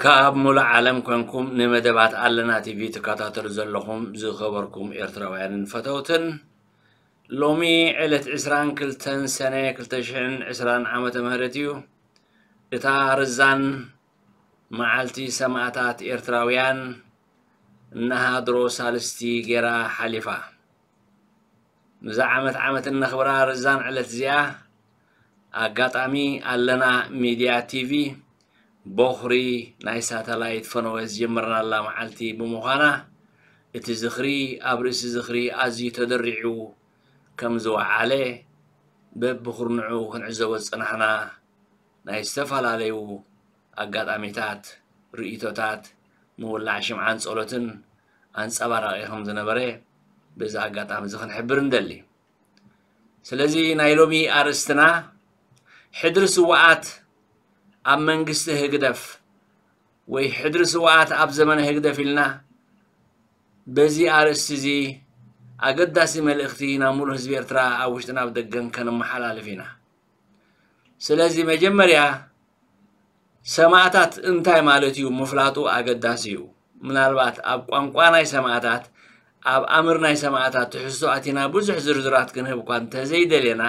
ካብ ሙሉእ ዓለም ኮንኩም ንመደባት ኣለና ቲቪ ትከታተሉ ዘለኹም ዝኸበርኩም ኤርትራውያንን ፈተውትን፣ ሎሚ ዕለት ዕስራን ክልተን ሰነ ክልተ ሽሕን ዕስራን ዓመተ ምህረት እዩ። እታ ርዛን መዓልቲ ሰማእታት ኤርትራውያን እናሃድሮ ሳልስቲ ጌራ ሓሊፋ። ንዛ ዓመት ዓመት እነኽብራ ርዛን ዕለት እዚኣ ኣጋጣሚ ኣለና ሚድያ ቲቪ ቦኽሪ ናይ ሳተላይት ፈነወ ዝጀመርናላ መዓልቲ ብምዃና፣ እቲ ዝኽሪ ኣብ ርእሲ ዝኽሪ ኣዝዩ ተደሪዑ ከም ዝወዓለ፣ በብኹርንዑ ክንዕዘቦ ዝጸናሕና ናይ ዝተፈላለዩ ኣጋጣሚታት፣ ርእይቶታት፣ ምውላዕ ሽምዓን ጸሎትን ኣንጸባራቒ ከም ዝነበረ በዚ ኣጋጣሚ እዚ ክንሕብር ንደሊ። ስለዚ ናይ ሎሚ ኣርእስትና ሕድሪ ስውኣት ኣብ መንግስቲ ህግደፍ ወይ ሕድሪ ስውኣት ኣብ ዘመነ ህግደፍ ኢልና በዚ ኣርእስቲ እዚ ኣገዳሲ መልእኽቲ ናብ ሙሉእ ህዝቢ ኤርትራ ኣብ ውሽጥን ኣብ ደገን ከነመሓላልፍ ኢና። ስለዚ መጀመርያ ሰማእታት እንታይ ማለት እዩ ምፍላጡ ኣገዳሲ እዩ። ምናልባት ኣብ ቋንቋ ናይ ሰማእታት፣ ኣብ ኣምር ናይ ሰማእታት ትሕዝቶ ኣቲና ብዙሕ ዝርዝራት ክንህብ እኳ እንተዘይደለና፣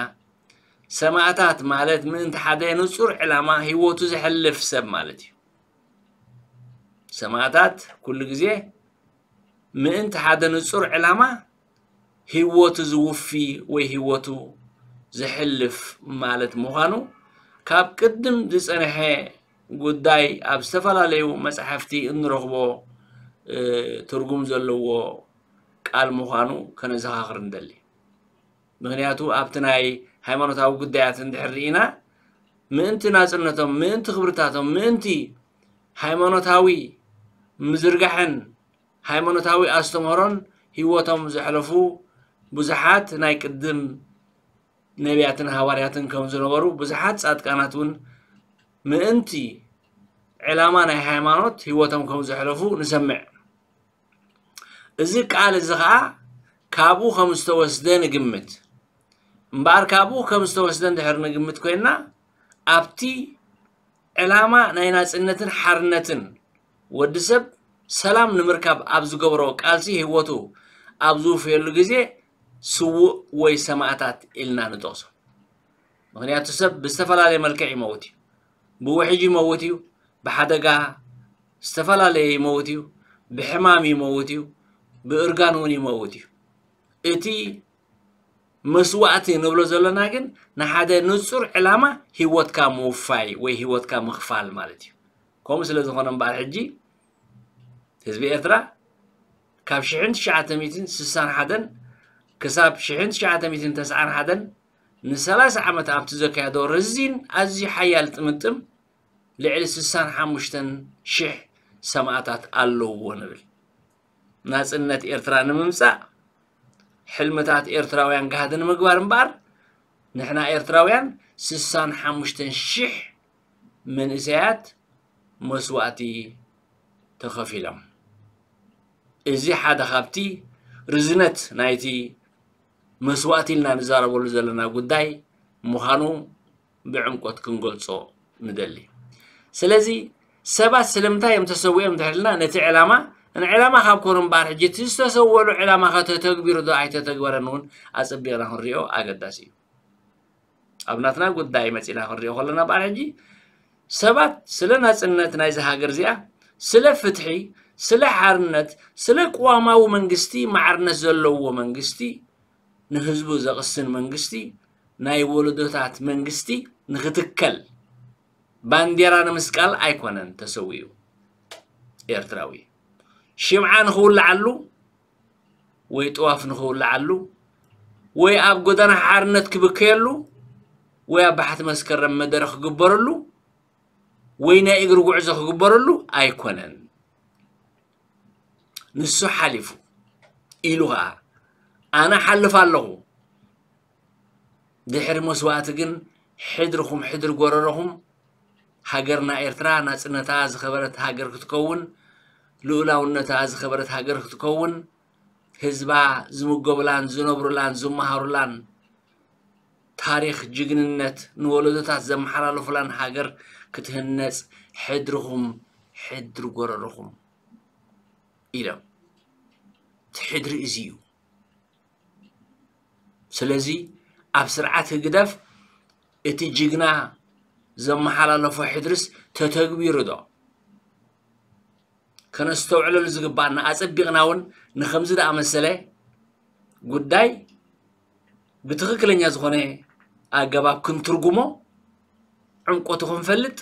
ሰማእታት ማለት ምእንቲ ሓደ ንጹር ዕላማ ህይወቱ ዘሕልፍ ሰብ ማለት እዩ። ሰማእታት ኩሉ ግዜ ምእንቲ ሓደ ንጹር ዕላማ ህይወቱ ዝውፊ ወይ ህይወቱ ዘሕልፍ ማለት ምዃኑ ካብ ቅድም ዝጸንሐ ጉዳይ ኣብ ዝተፈላለዩ መጻሕፍቲ እንረኽቦ፣ እ፣ ትርጉም ዘለዎ ቃል ምዃኑ ከነዘኻኽር ንደሊ። ምኽንያቱ ኣብቲ ናይ ሃይማኖታዊ ጉዳያት እንድሕር ርኢና ምእንቲ ናጽነቶም፣ ምእንቲ ክብርታቶም፣ ምእንቲ ሃይማኖታዊ ምዝርጋሕን ሃይማኖታዊ ኣስተምህሮን ህይወቶም ዘሕለፉ ብዙሓት ናይ ቅድም ነቢያትን ሃዋርያትን ከም ዝነበሩ፣ ብዙሓት ጻድቃናት እውን ምእንቲ ዕላማ ናይ ሃይማኖት ህይወቶም ከም ዘሕለፉ ንሰምዕ። እዚ ቃል እዚ ኸኣ ካብኡ ከም ዝተወስደ ንግምት። እምበኣር ካብኡ ከም ዝተወስደ እንድሕር ንግምት ኮይንና፣ ኣብቲ ዕላማ ናይ ናጽነትን ሓርነትን ወዲ ሰብ ሰላም ንምርካብ ኣብ ዝገብሮ ቃልሲ ህይወቱ ኣብ ዝውፍየሉ ግዜ ስዉእ ወይ ሰማእታት ኢልና ንጠቕሶ። ምኽንያቱ ሰብ ብዝተፈላለየ መልክዕ ይመውት እዩ። ብውሕጅ ይመውት እዩ፣ ብሓደጋ ዝተፈላለየ ይመውት እዩ፣ ብሕማም ይመውት እዩ፣ ብእርጋን እውን ይመውት እዩ። እቲ መስዋእቲ ንብሎ ዘለና ግን ንሓደ ንጹር ዕላማ ህይወትካ ምውፋይ ወይ ህይወትካ ምኽፋል ማለት እዩ። ከምኡ ስለ ዝኾነ እምበኣር ሕጂ ህዝቢ ኤርትራ ካብ ሽሕን ትሽዓተ ሚእትን ስሳን ሓደን ክሳብ ሽሕን ትሽዓተ ሚእትን ተስዓን ሓደን ንሰላሳ ዓመት ኣብቲ ዘካየዶ ረዚን ኣዝዩ ሓያል ጥምጥም ልዕሊ ስሳን ሓሙሽተን ሽሕ ሰማእታት ኣለውዎ ንብል። ናጽነት ኤርትራ ንምምጻእ ሕልምታት ኤርትራውያን ጋህዲ ንምግባር እምበኣር ንሕና ኤርትራውያን ስሳን ሓሙሽተን ሽሕ መንእሰያት መስዋእቲ ተኸፊሎም። እዚ ሓደ ካብቲ ርዝነት ናይቲ መስዋእቲ ኢልና ንዛረበሉ ዘለና ጉዳይ ምዃኑ ብዕምቆት ክንገልጾ ንደሊ። ስለዚ ሰባት ስለምንታይ እዮም ተሰዊኦም እንድሕር ኢልና ነቲ ዕላማ ንዕላማ ካብ ኮኑ እምበኣር ሕጂ እቲ ዝተሰወሉ ዕላማ ከተተግቢሩ ዶ ኣይተተግበረን እውን ኣጸቢቕና ክንሪኦ ኣገዳሲ እዩ። ኣብ ናትና ጉዳይ መጺና ክንሪኦ ከለና እምበኣር ሕጂ ሰባት ስለ ናጽነት ናይዚ ሃገር እዚኣ፣ ስለ ፍትሒ፣ ስለ ሓርነት፣ ስለ ቅዋማዊ መንግስቲ፣ ማዕርነት ዘለዎ መንግስቲ፣ ንህዝቡ ዘቕስን መንግስቲ፣ ናይ ወለዶታት መንግስቲ ንኽትከል ባንዴራ ንምስቃል ኣይኮነን ተሰዊኡ ኤርትራዊ። ሽምዓ ንኽውልዓሉ ወይ ጥዋፍ ንኽውልዓሉ ወይ ኣብ ጎደና ሓርነት ክብከየሉ ወይ ኣብ ባሕቲ መስከረም መደረ ክግበረሉ ወይ ናይ እግሪ ጉዕዞ ክግበረሉ ኣይኮነን። ንሱ ሓሊፉ ኢሉ ኸኣ ኣነ ሓልፍ ኣለኹ። ድሕሪ መስዋእቲ ግን ሕድርኹም ሕድሪ ጎረሮኹም ሃገርና ኤርትራ ናጽነታ ዝኸበረት ሃገር ክትከውን፣ ልኡላውነታ ዝኸበረት ሃገር ክትከውን፣ ህዝባ ዝምገቡላን ዝነብሩላን ዝመሃሩላን ታሪኽ ጅግንነት ንወለዶታት ዘመሓላልፉላን ሃገር ክትህነጽ ሕድርኹም ሕድሪ ጎረርኹም ኢሎም። እቲ ሕድሪ እዚ እዩ። ስለዚ ኣብ ስርዓት ህግደፍ እቲ ጅግና ዘመሓላለፎ ሕድርስ ተተግቢሩ ዶ? ከነስተውዕለሉ ዝግባኣና፣ ኣጸቢቕና እውን ንኸምዚ ዝኣመሰለ ጉዳይ ብትኽክለኛ ዝኾነ ኣገባብ ክንትርጉሞ፣ ዕምቆቱ ክንፈልጥ፣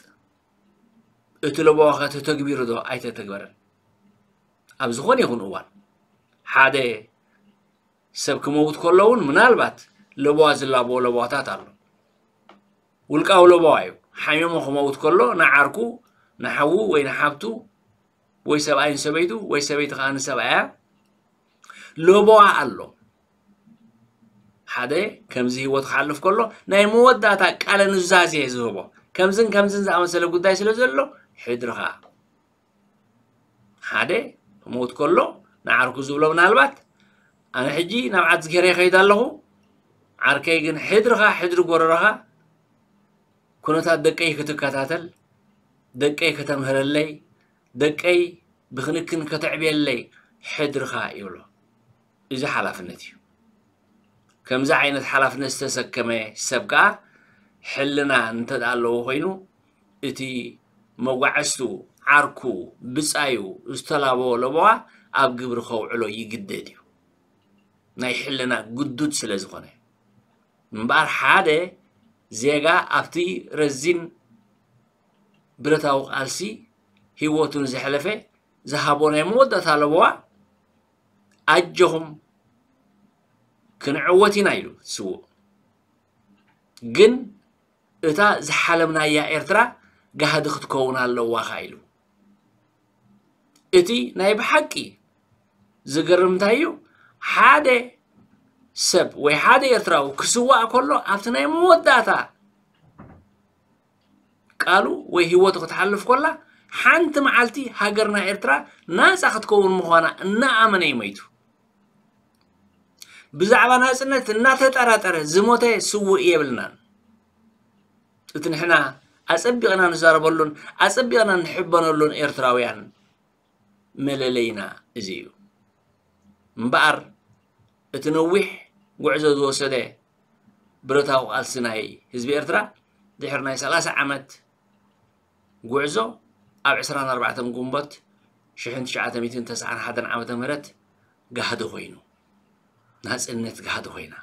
እቲ ለበዋ ከ ተተግቢሩ ዶ ኣይተተግበረን? ኣብ ዝኾነ ይኹን እዋን ሓደ ሰብ ክመውት ከሎ እውን ምናልባት ለበዋ ዝላበዎ ለበዋታት ኣሎ። ውልቃዊ ለበዋ እዩ። ሓሚሙ ክመውት ከሎ ንዓርኩ፣ ንሓዉ ወይ ንሓብቱ ወይ ሰብኣይ ንሰበይቱ ወይ ሰበይቲ ከኣ ንሰብኣያ ለበዋ ኣሎ። ሓደ ከምዚ ህይወት ክሓልፍ ከሎ ናይ መወዳእታ ቃለ ኑዛዜ ዝህቦ ከምዝን ከምዝን ዝኣመሰለ ጉዳይ ስለ ዘሎ ሕድርኻ ሓደ ክመውት ከሎ ንዓርኩ ዝብሎ ምናልባት ኣነ ሕጂ ናብ ዓዲ ገይረ ይኸይድ ኣለኹ፣ ዓርከይ ግን ሕድርኻ ሕድሪ ጎረረኻ ኩነታት ደቀይ ክትከታተል፣ ደቀይ ከተምህረለይ፣ ደቀይ ብክንክን ከተዕብየለይ ሕድርኻ ይብሎ። እዚ ሓላፍነት እዩ። ከምዚ ዓይነት ሓላፍነት ዝተሰከመ ሰብ ከኣ ሕልና እንተ ደኣ ኣለዎ ኮይኑ እቲ መጓዕዝቱ ዓርኩ ብጻዩ ዝተላበዎ ለበዋ ኣብ ግብሪ ከውዕሎ ይግደድ እዩ። ናይ ሕልና ግዱድ ስለ ዝኾነ እምበኣር ሓደ ዜጋ ኣብቲ ረዚን ብረታዊ ቃልሲ ህይወቱ ንዘሕለፈ ዝሃቦ ናይ መወዳእታ ለበዋ ኣጆኹም ክንዕወት ኢና ኢሉ ስዉእ። ግን እታ ዝሓለምናያ ኤርትራ ጋህዲ ክትከውን ኣለዋ ኢሉ። እቲ ናይ ብሓቂ ዝገርም እንታይ እዩ? ሓደ ሰብ ወይ ሓደ ኤርትራዊ ክስዋእ ከሎ ኣብቲ ናይ መወዳእታ ቃሉ ወይ ህይወቱ ክትሓልፍ ከላ ሓንቲ መዓልቲ ሃገርና ኤርትራ ናጻ ክትከውን ምዃና እናኣመነ እዩ መይቱ። ብዛዕባ ናጽነት እናተጠራጠረ ዝሞተ ስውእ የብልናን። እቲ ንሕና ኣጸቢቕና ንዛረበሉን ኣጸቢቕና ንሕበነሉን ኤርትራውያን መለለይና እዚ እዩ። እምበኣር እቲ ነዊሕ ጉዕዞ ዝወሰደ ብረታዊ ቃልሲ ናይ ህዝቢ ኤርትራ ድሕሪ ናይ ሰላሳ ዓመት ጉዕዞ ኣብ ዕስራን ኣርባዕተን ግንቦት ሽሕን ትሽዓተ ሚእትን ተስዓን ሓደን ዓመተ ምህረት ጋህዲ ኮይኑ፣ ናጽነት ጋህዲ ኮይና።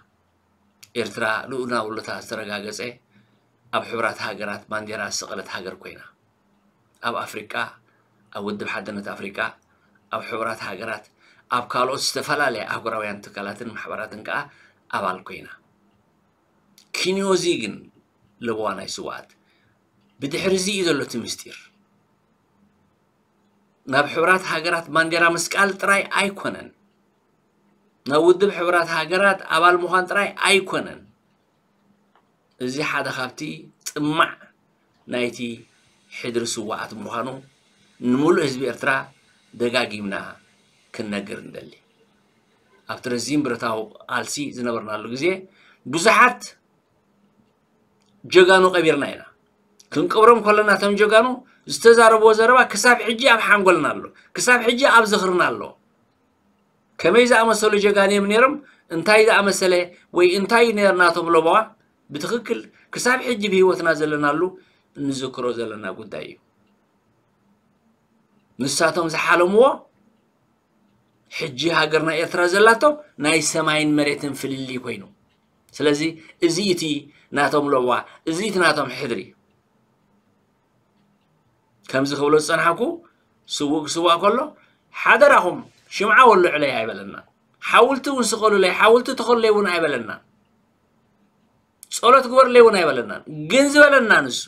ኤርትራ ልኡላውነታ ዝተረጋገጸ ኣብ ሕቡራት ሃገራት ባንዴራ ዝሰቐለት ሃገር ኮይና። ኣብ ኣፍሪቃ፣ ኣብ ውድብ ሓድነት ኣፍሪቃ፣ ኣብ ሕቡራት ሃገራት፣ ኣብ ካልኦት ዝተፈላለያ ኣህጉራውያን ትካላትን ማሕበራትን ከኣ ኣባል ኮይና። ኪንዮዚ ግን ለበዋ ናይ ስውኣት። ብድሕሪ እዚ እዩ ዘሎ እቲ ምስጢር። ናብ ሕቡራት ሃገራት ባንዴራ ምስቃል ጥራይ ኣይኮነን። ናብ ውድብ ሕቡራት ሃገራት ኣባል ምዃን ጥራይ ኣይኮነን። እዚ ሓደ ካብቲ ጥማዕ ናይቲ ሕድሪ ስውኣት ምዃኑ ንምሉእ ህዝቢ ኤርትራ ደጋጊምና ክንነግር ንደሊ። ኣብቲ ረዚን ብረታዊ ቃልሲ ዝነበርናሉ ግዜ ብዙሓት ጀጋኑ ቀቢርና ኢና። ክንቀብሮም ከለና እቶም ጀጋኑ ዝተዛረብዎ ዘረባ ክሳብ ሕጂ ኣብ ሓንጎልና ኣሎ፣ ክሳብ ሕጂ ኣብ ዝኽርና ኣሎ። ከመይ ዝኣመሰሉ ጀጋኑ እዮም ነይሮም፣ እንታይ ዝኣመሰለ ወይ እንታይ እዩ ነይሩ ናቶም ለበዋ ብትኽክል ክሳብ ሕጂ ብህይወትና ዘለናሉ እንዝክሮ ዘለና ጉዳይ እዩ። ንሳቶም ዝሓለምዎ ሕጂ ሃገርና ኤርትራ ዘላቶ ናይ ሰማይን መሬትን ፍልልይ ኮይኑ። ስለዚ እዚ እቲ ናቶም ለበዋ፣ እዚ እቲ ናቶም ሕድሪ። ከምዚ ክብሎ ዝጸንሓኩ ስዉእ ክስዋእ ከሎ ሓደራኹም ሽምዓ ወልዑለይ ኣይበለናን። ሓውልቲ እውን ስቐሉለይ፣ ሓውልቲ ተኸሉለይ እውን ኣይበለናን። ጸሎት ግበሩለይ እውን ኣይበለናን። ግን ዝበለና ንሱ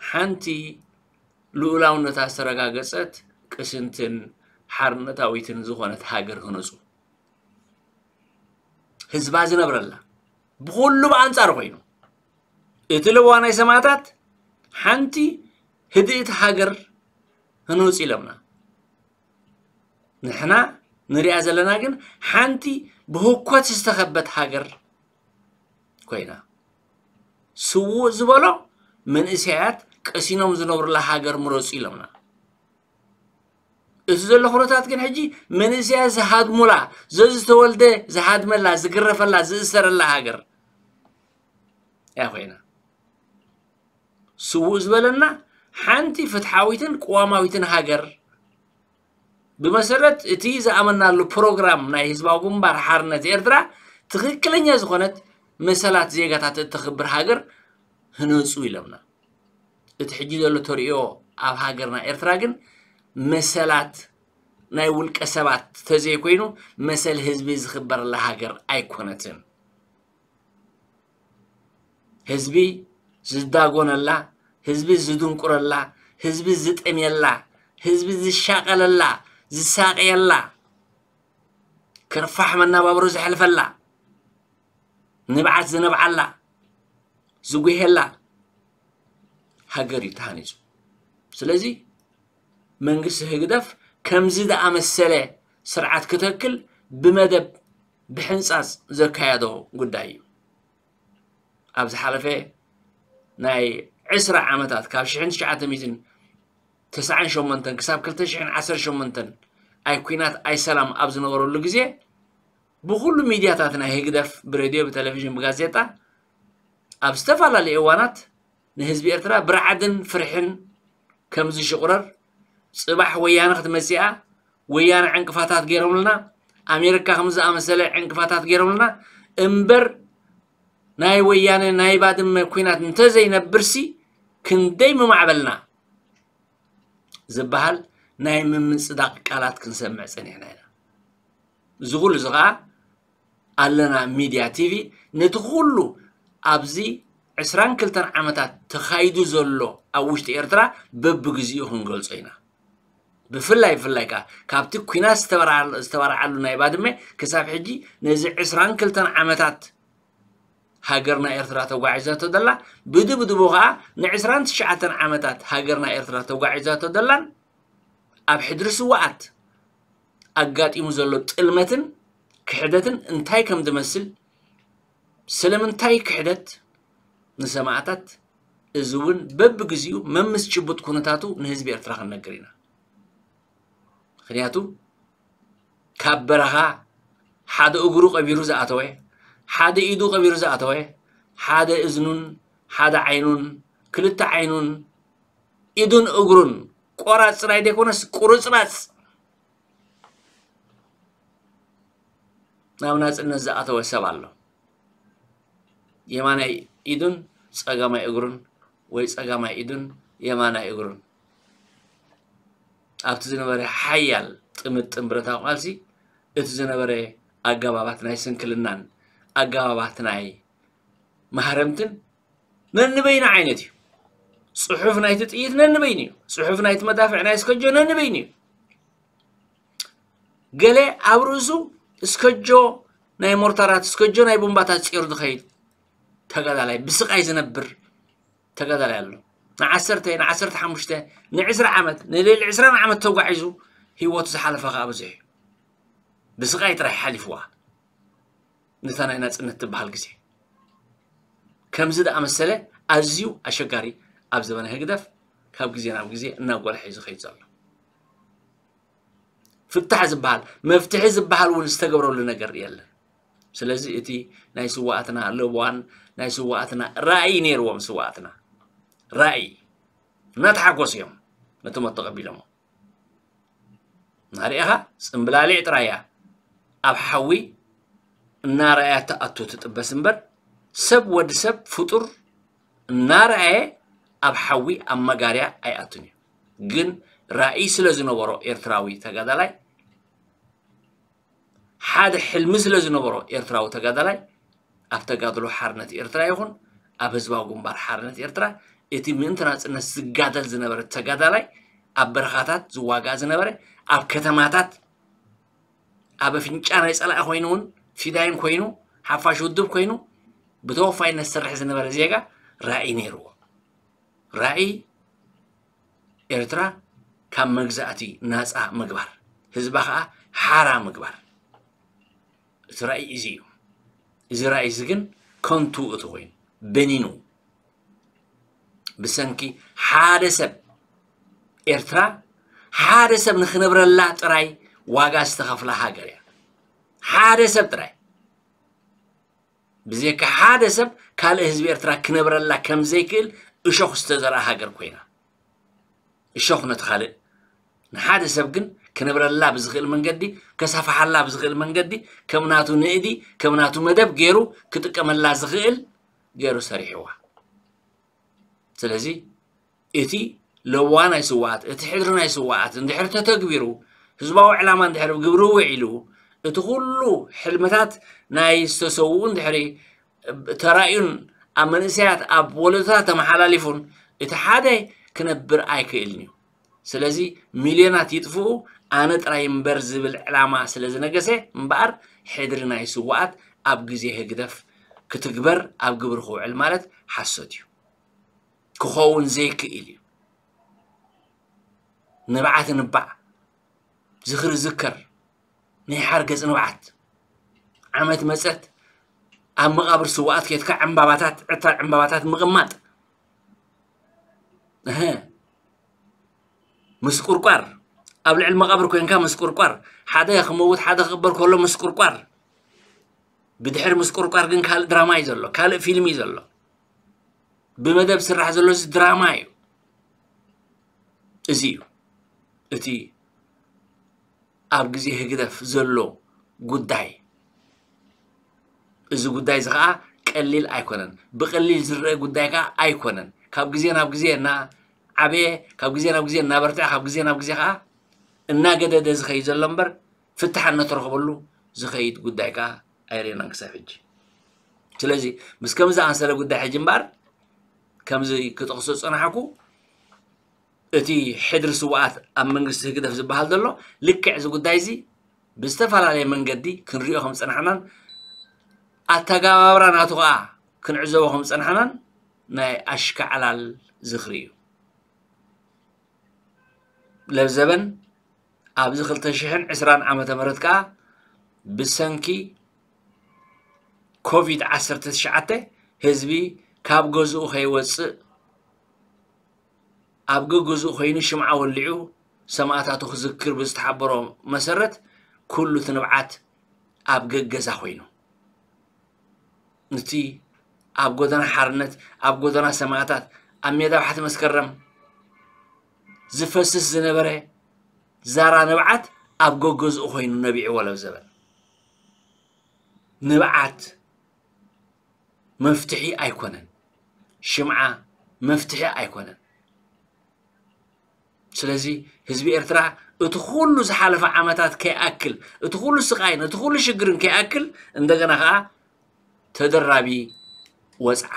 ሓንቲ ልኡላውነታ ዝተረጋገጸት ቅስንትን ሓርነታዊትን ዝኾነት ሃገር ህነጹ። ህዝባ ዝነብረላ ብኹሉ ብኣንጻሩ ኮይኑ እቲ ለበዋ ናይ ሰማእታት ሓንቲ ህድእቲ ሃገር ህነጹ ኢሎምና። ንሕና ንሪኣ ዘለና ግን ሓንቲ ብህኮት ዝተኸበት ሃገር ኮይና። ስዉእ ዝበሎ መንእሰያት ቀሲኖም ዝነብሩላ ሃገር ምረጹ ኢሎምና። እቲ ዘሎ ኩነታት ግን ሕጂ መንእሰያ ዝሃድሙላ፣ ዘዝተወልደ ዝሃድመላ፣ ዝግረፈላ፣ ዝእሰረላ ሃገር እያ ኮይና። ስውእ ዝበለና ሓንቲ ፍትሓዊትን ቅዋማዊትን ሃገር ብመሰረት እቲ ዝኣመናሉ ፕሮግራም ናይ ህዝባዊ ግንባር ሓርነት ኤርትራ ትኽክለኛ ዝኾነት መሰላት ዜጋታት እተኽብር ሃገር ህነፁ ኢሎምና። እቲ ሕጂ ዘሎ ተርእዮ ኣብ ሃገርና ኤርትራ ግን መሰላት ናይ ውልቀ ሰባት ተዘይኮይኑ መሰል ህዝቢ ዝኽበረላ ሃገር ኣይኮነትን። ህዝቢ ዝዳጎነላ፣ ህዝቢ ዝድንቁረላ፣ ህዝቢ ዝጠምየላ፣ ህዝቢ ዝሻቐለላ፣ ዝሳቐየላ፣ ክርፋሕ መናባብሮ ዘሕልፈላ፣ ንብዓት ዝነብዓላ፣ ዝጉሄላ ሃገር እዩ ተሃኒፁ። ስለዚ መንግስቲ ህግደፍ ከምዚ ዝኣመሰለ ስርዓት ክተክል ብመደብ ብሕንፃፅ ዘካየዶ ጉዳይ እዩ። ኣብ ዝሓለፈ ናይ ዕስራ ዓመታት ካብ ሽሕን ትሽዓተ ሚእትን ተስዓን ሸሞንተን ክሳብ ክልተ ሽሕን ዓሰርተ ሸሞንተን ኣይ ኩናት ኣይ ሰላም ኣብ ዝነበረሉ ግዜ ብኹሉ ሚድያታት ናይ ህግደፍ ብሬድዮ፣ ብቴሌቪዥን፣ ብጋዜጣ ኣብ ዝተፈላለዩ እዋናት ንህዝቢ ኤርትራ ብርዓድን ፍርሕን ከም ዝሽቑረር፣ ጽባሕ ወያነ ክትመጽእ እያ፣ ወያነ ዕንቅፋታት ገይሮምልና፣ ኣሜሪካ ከም ዝኣመሰለ ዕንቅፋታት ገይሮምልና እምበር ናይ ወያነ ናይ ባድመ ኲናት እንተዘይነብርሲ ክንደይ ምማዕበልና ዝበሃል ናይ ምምጽዳቕ ቃላት ክንሰምዕ ጸኒሕና ኢና። እዚ ኩሉ እዚ ኸኣ ኣለና ሚድያ ቲቪ ነቲ ኩሉ ኣብዚ ዕስራን ክልተን ዓመታት ተኻይዱ ዘሎ ኣብ ውሽጢ ኤርትራ በብግዚኡ ክንገልጾ ኢና። ብፍላይ ብፍላይ ከኣ ካብቲ ኲናት ዝተበርዓ- ዝተበርዓሉ ናይ ባድመ ክሳብ ሕጂ ነዚ ዕስራን ክልተን ዓመታት ሃገርና ኤርትራ ተጓዒዛቶ ዘላ፣ ብድብድቡ ከኣ ንዕስራን ትሽዓተን ዓመታት ሃገርና ኤርትራ ተጓዒዛቶ ዘላን ኣብ ሕድሪ ስውኣት ኣጋጢሙ ዘሎ ጥልመትን ክሕደትን እንታይ ከም ዝመስል፣ ስለምንታይ ክሕደት ንሰማእታት፣ እዚ እውን በብግዚኡ መምስ ጭቡጥ ኩነታቱ ንህዝቢ ኤርትራ ክንነግር ኢና። ምኽንያቱ ካብ በረኻ ሓደ እግሩ ቀቢሩ ዝኣተወ፣ ሓደ ኢዱ ቀቢሩ ዝኣተወ፣ ሓደ እዝኑን ሓደ ዓይኑን ክልተ ዓይኑን ኢዱን እግሩን ቆራጽ ጥራይ ዘይኮነስ ቁርጽራጽ ናብ ናጽነት ዝኣተወ ሰብ ኣሎ። የማናይ ኢዱን ጸጋማይ እግሩን ወይ ጸጋማይ ኢዱን የማናይ እግሩን ኣብቲ ዝነበረ ሓያል ጥምጥም ብረታዊ ቃልሲ እቲ ዝነበረ ኣገባባት ናይ ስንክልናን ኣገባባት ናይ ማህረምትን ነንበይኑ ዓይነት እዩ። ጽሑፍ ናይቲ ጥይት ነንበይኑ እዩ። ጽሑፍ ናይቲ መዳፍዕ ናይ እስከጆ ነንበይኑ እዩ። ገለ ኣብ ርእሱ እስከጆ ናይ ሞርታራት እስከጆ ናይ ቡምባታት ጸይሩ ዝኸይድ ተጋዳላይ ብስቓይ ዝነብር ተጋዳላይ ኣሎ። ንዓሰርተ ንዓሰርተ ሓሙሽተ ንዕስራ ዓመት ንልዕሊ ዕስራን ዓመት ተጓዒዙ ህይወቱ ዝሓለፈ ከዓ ብዙሕ እዩ። ብስቓይ ጥራይ ሓሊፍዋ ነታ ናይ ናፅነት ትበሃል ግዜ። ከምዚ ዝኣመሰለ ኣዝዩ ኣሸጋሪ ኣብ ዘበነ ህግደፍ ካብ ግዜ ናብ ግዜ እናጎልሐ እዩ ዝኸይድ ዘሎ። ፍታሕ ዝበሃል መፍትሒ ዝበሃል እውን ዝተገብረሉ ነገር የለን። ስለዚ እቲ ናይ ስዋኣትና ለበዋን ናይ ስዋኣትና ራእይ ነይርዎም ስዋኣትና ራእይ እናተሓጎሱ እዮም ነቲ ሞት ተቐቢሎሞ። እናርኢኻ ፅምብላሊዕ ጥራይ እያ ኣብ ሓዊ እናረኣያ ትኣቱ ትጥበስ እምበር ሰብ ወዲ ሰብ ፍጡር እናረኣየ ኣብ ሓዊ ኣብ መጋርያ ኣይኣቱን እዩ። ግን ራእይ ስለ ዝነበሮ ኤርትራዊ ተጋዳላይ ሓደ ሕልሚ ስለ ዝነበሮ ኤርትራዊ ተጋዳላይ ኣብ ተጋድሎ ሓርነት ኤርትራ ይኹን ኣብ ህዝባዊ ግንባር ሓርነት ኤርትራ እቲ ምእንቲ ናጽነት ዝጋደል ዝነበረ ተጋዳላይ ኣብ በረኻታት ዝዋጋእ ዝነበረ ኣብ ከተማታት ኣብ ኣፍንጫ ናይ ጸላኢ ኮይኑ እውን ፊዳይን ኮይኑ ሓፋሽ ውድብ ኮይኑ ብተወፋይነት ዝሰርሕ ዝነበረ ዜጋ ራእይ ነይርዎ። ራእይ ኤርትራ ካብ መግዛእቲ ናጻ ምግባር፣ ህዝባ ከኣ ሓራ ምግባር። እቲ ራእይ እዚ እዩ። እዚ ራእይ እዚ ግን ከንቱ እቲ ኮይኑ በኒኑ ብሰንኪ ሓደ ሰብ ኤርትራ ሓደ ሰብ ንክነብረላ ጥራይ ዋጋ ዝተኸፍላ ሃገር እያ። ሓደ ሰብ ጥራይ፣ ብዘይካ ሓደ ሰብ ካልእ ህዝቢ ኤርትራ ክነብረላ ከም ዘይክእል እሾኽ ዝተዘርኣ ሃገር ኮይና። እሾኽ ነቲ ካልእ፣ ንሓደ ሰብ ግን ክነብረላ ብዝኽእል መንገዲ፣ ከሳፍሓላ ብዝኽእል መንገዲ፣ ከም ናቱ ንእዲ፣ ከም ናቱ መደብ ገይሩ ክጥቀመላ ዝኽእል ገይሩ ሰሪሕዋ። ስለዚ እቲ ለዋ ናይ ስውኣት፣ እቲ ሕድሪ ናይ ስውኣት እንድሕር ተተግቢሩ፣ ህዝባዊ ዕላማ እንድሕር ግብሪ ውዒሉ፣ እቲ ኩሉ ሕልምታት ናይ ዝተሰውኡ እንድሕሪ ተራእዩን ኣብ መንእሰያት፣ ኣብ ወለዶታት ተመሓላሊፉን፣ እቲ ሓደ ክነብር ኣይክእልን እዩ። ስለዚ ሚልዮናት ይጥፍኡ፣ ኣነ ጥራይ እምበር ዝብል ዕላማ ስለ ዝነገሰ እምበኣር፣ ሕድሪ ናይ ስውኣት ኣብ ግዜ ህግደፍ ክትግበር ኣብ ግብሪ ክውዕል ማለት ሓሶት እዩ። ክኸውን ዘይክእል እዩ። ንብዓት ንባዕ፣ ዝኽሪ ዝከር፣ ናይ ሓርገጽ ንብዓት። ዓመት መጸት ኣብ መቓብር ስውኣት ኬድካ ዕምባባታት፣ ዕታር ዕምባባታት ምቕማጥ። እህ። ምስቁርቋር፣ ኣብ ልዕሊ መቓብር ኮንካ ምስቁርቋር፣ ሓደ ክመውት ሓደ ክቕበር ከሎ ምስቁርቋር። ብድሕሪ ምስቁርቋር ግን ካልእ ድራማ እዩ ዘሎ፣ ካልእ ፊልም እዩ ዘሎ። ብመደብ ዝስራሕ ዘሎ እዚ ድራማ እዩ። እዚ እዩ እቲ ኣብ ግዜ ህግደፍ ዘሎ ጉዳይ። እዚ ጉዳይ እዚ ኸኣ ቀሊል ኣይኮነን። ብቐሊል ዝረአ ጉዳይ ከኣ ኣይኮነን። ካብ ግዜ ናብ ግዜ እናዓበየ፣ ካብ ግዜ ናብ ግዜ እናበርትዐ፣ ካብ ግዜ ናብ ግዜ ኸኣ እናገደደ ዝኸይድ ዘሎ እምበር፣ ፍታሕ እነተረኽበሉ ዝኸይድ ጉዳይ ከኣ ኣይረኣናን ክሳብ ሕጂ። ስለዚ ምስ ከምዚ ዝኣመሰለ ጉዳይ ሕጂ እምበኣር፣ ከምዚ ክጠቕሶ ዝጸናሕኩ፣ እቲ ሕድሪ ስውኣት ኣብ መንግስቲ ህግደፍ ዝበሃል ዘሎ፣ ልክዕ እዚ ጉዳይ እዚ ብዝተፈላለየ መንገዲ ክንሪኦ ከም ዝጸናሕናን ኣተገባብራ ናቱ ከኣ ክንዕዘቦ ከም ዝጸናሕናን ናይ ኣሽካዕላል ዝኽሪ እዩ። ለብዘበን ኣብዚ ክልተ ሽሕን ዕስራን ዓመተ ምህረት ከኣ ብሰንኪ ኮቪድ ዓሰርተ ትሽዓተ ህዝቢ ካብ ገዝኡ ከይወጽእ ኣብ ገገዝኡ ኮይኑ ሽምዓ ወሊዑ ሰማእታቱ ክዝክር ብዝተሓበሮ መሰረት ኩሉ እቲ ንብዓት ኣብ ገገዛ ኮይኑ፣ እቲ ኣብ ጎደና ሓርነት፣ ኣብ ጎደና ሰማእታት፣ ኣብ ሜዳ ባሕቲ መስከረም ዝፈስስ ዝነበረ ዛራ ንብዓት ኣብ ገገዝኡ ኮይኑ ነቢዕዎ ለብዘበን። ንብዓት መፍትሒ ኣይኮነን። ሽምዓ መፍትሒ ኣይኮነን። ስለዚ ህዝቢ ኤርትራ እቲ ኩሉ ዝሓለፈ ዓመታት ከይኣክል፣ እቲ ኩሉ ስቓይን እቲ ኩሉ ሽግርን ከይኣክል፣ እንደገና ከኣ ተደራቢ ወጽዓ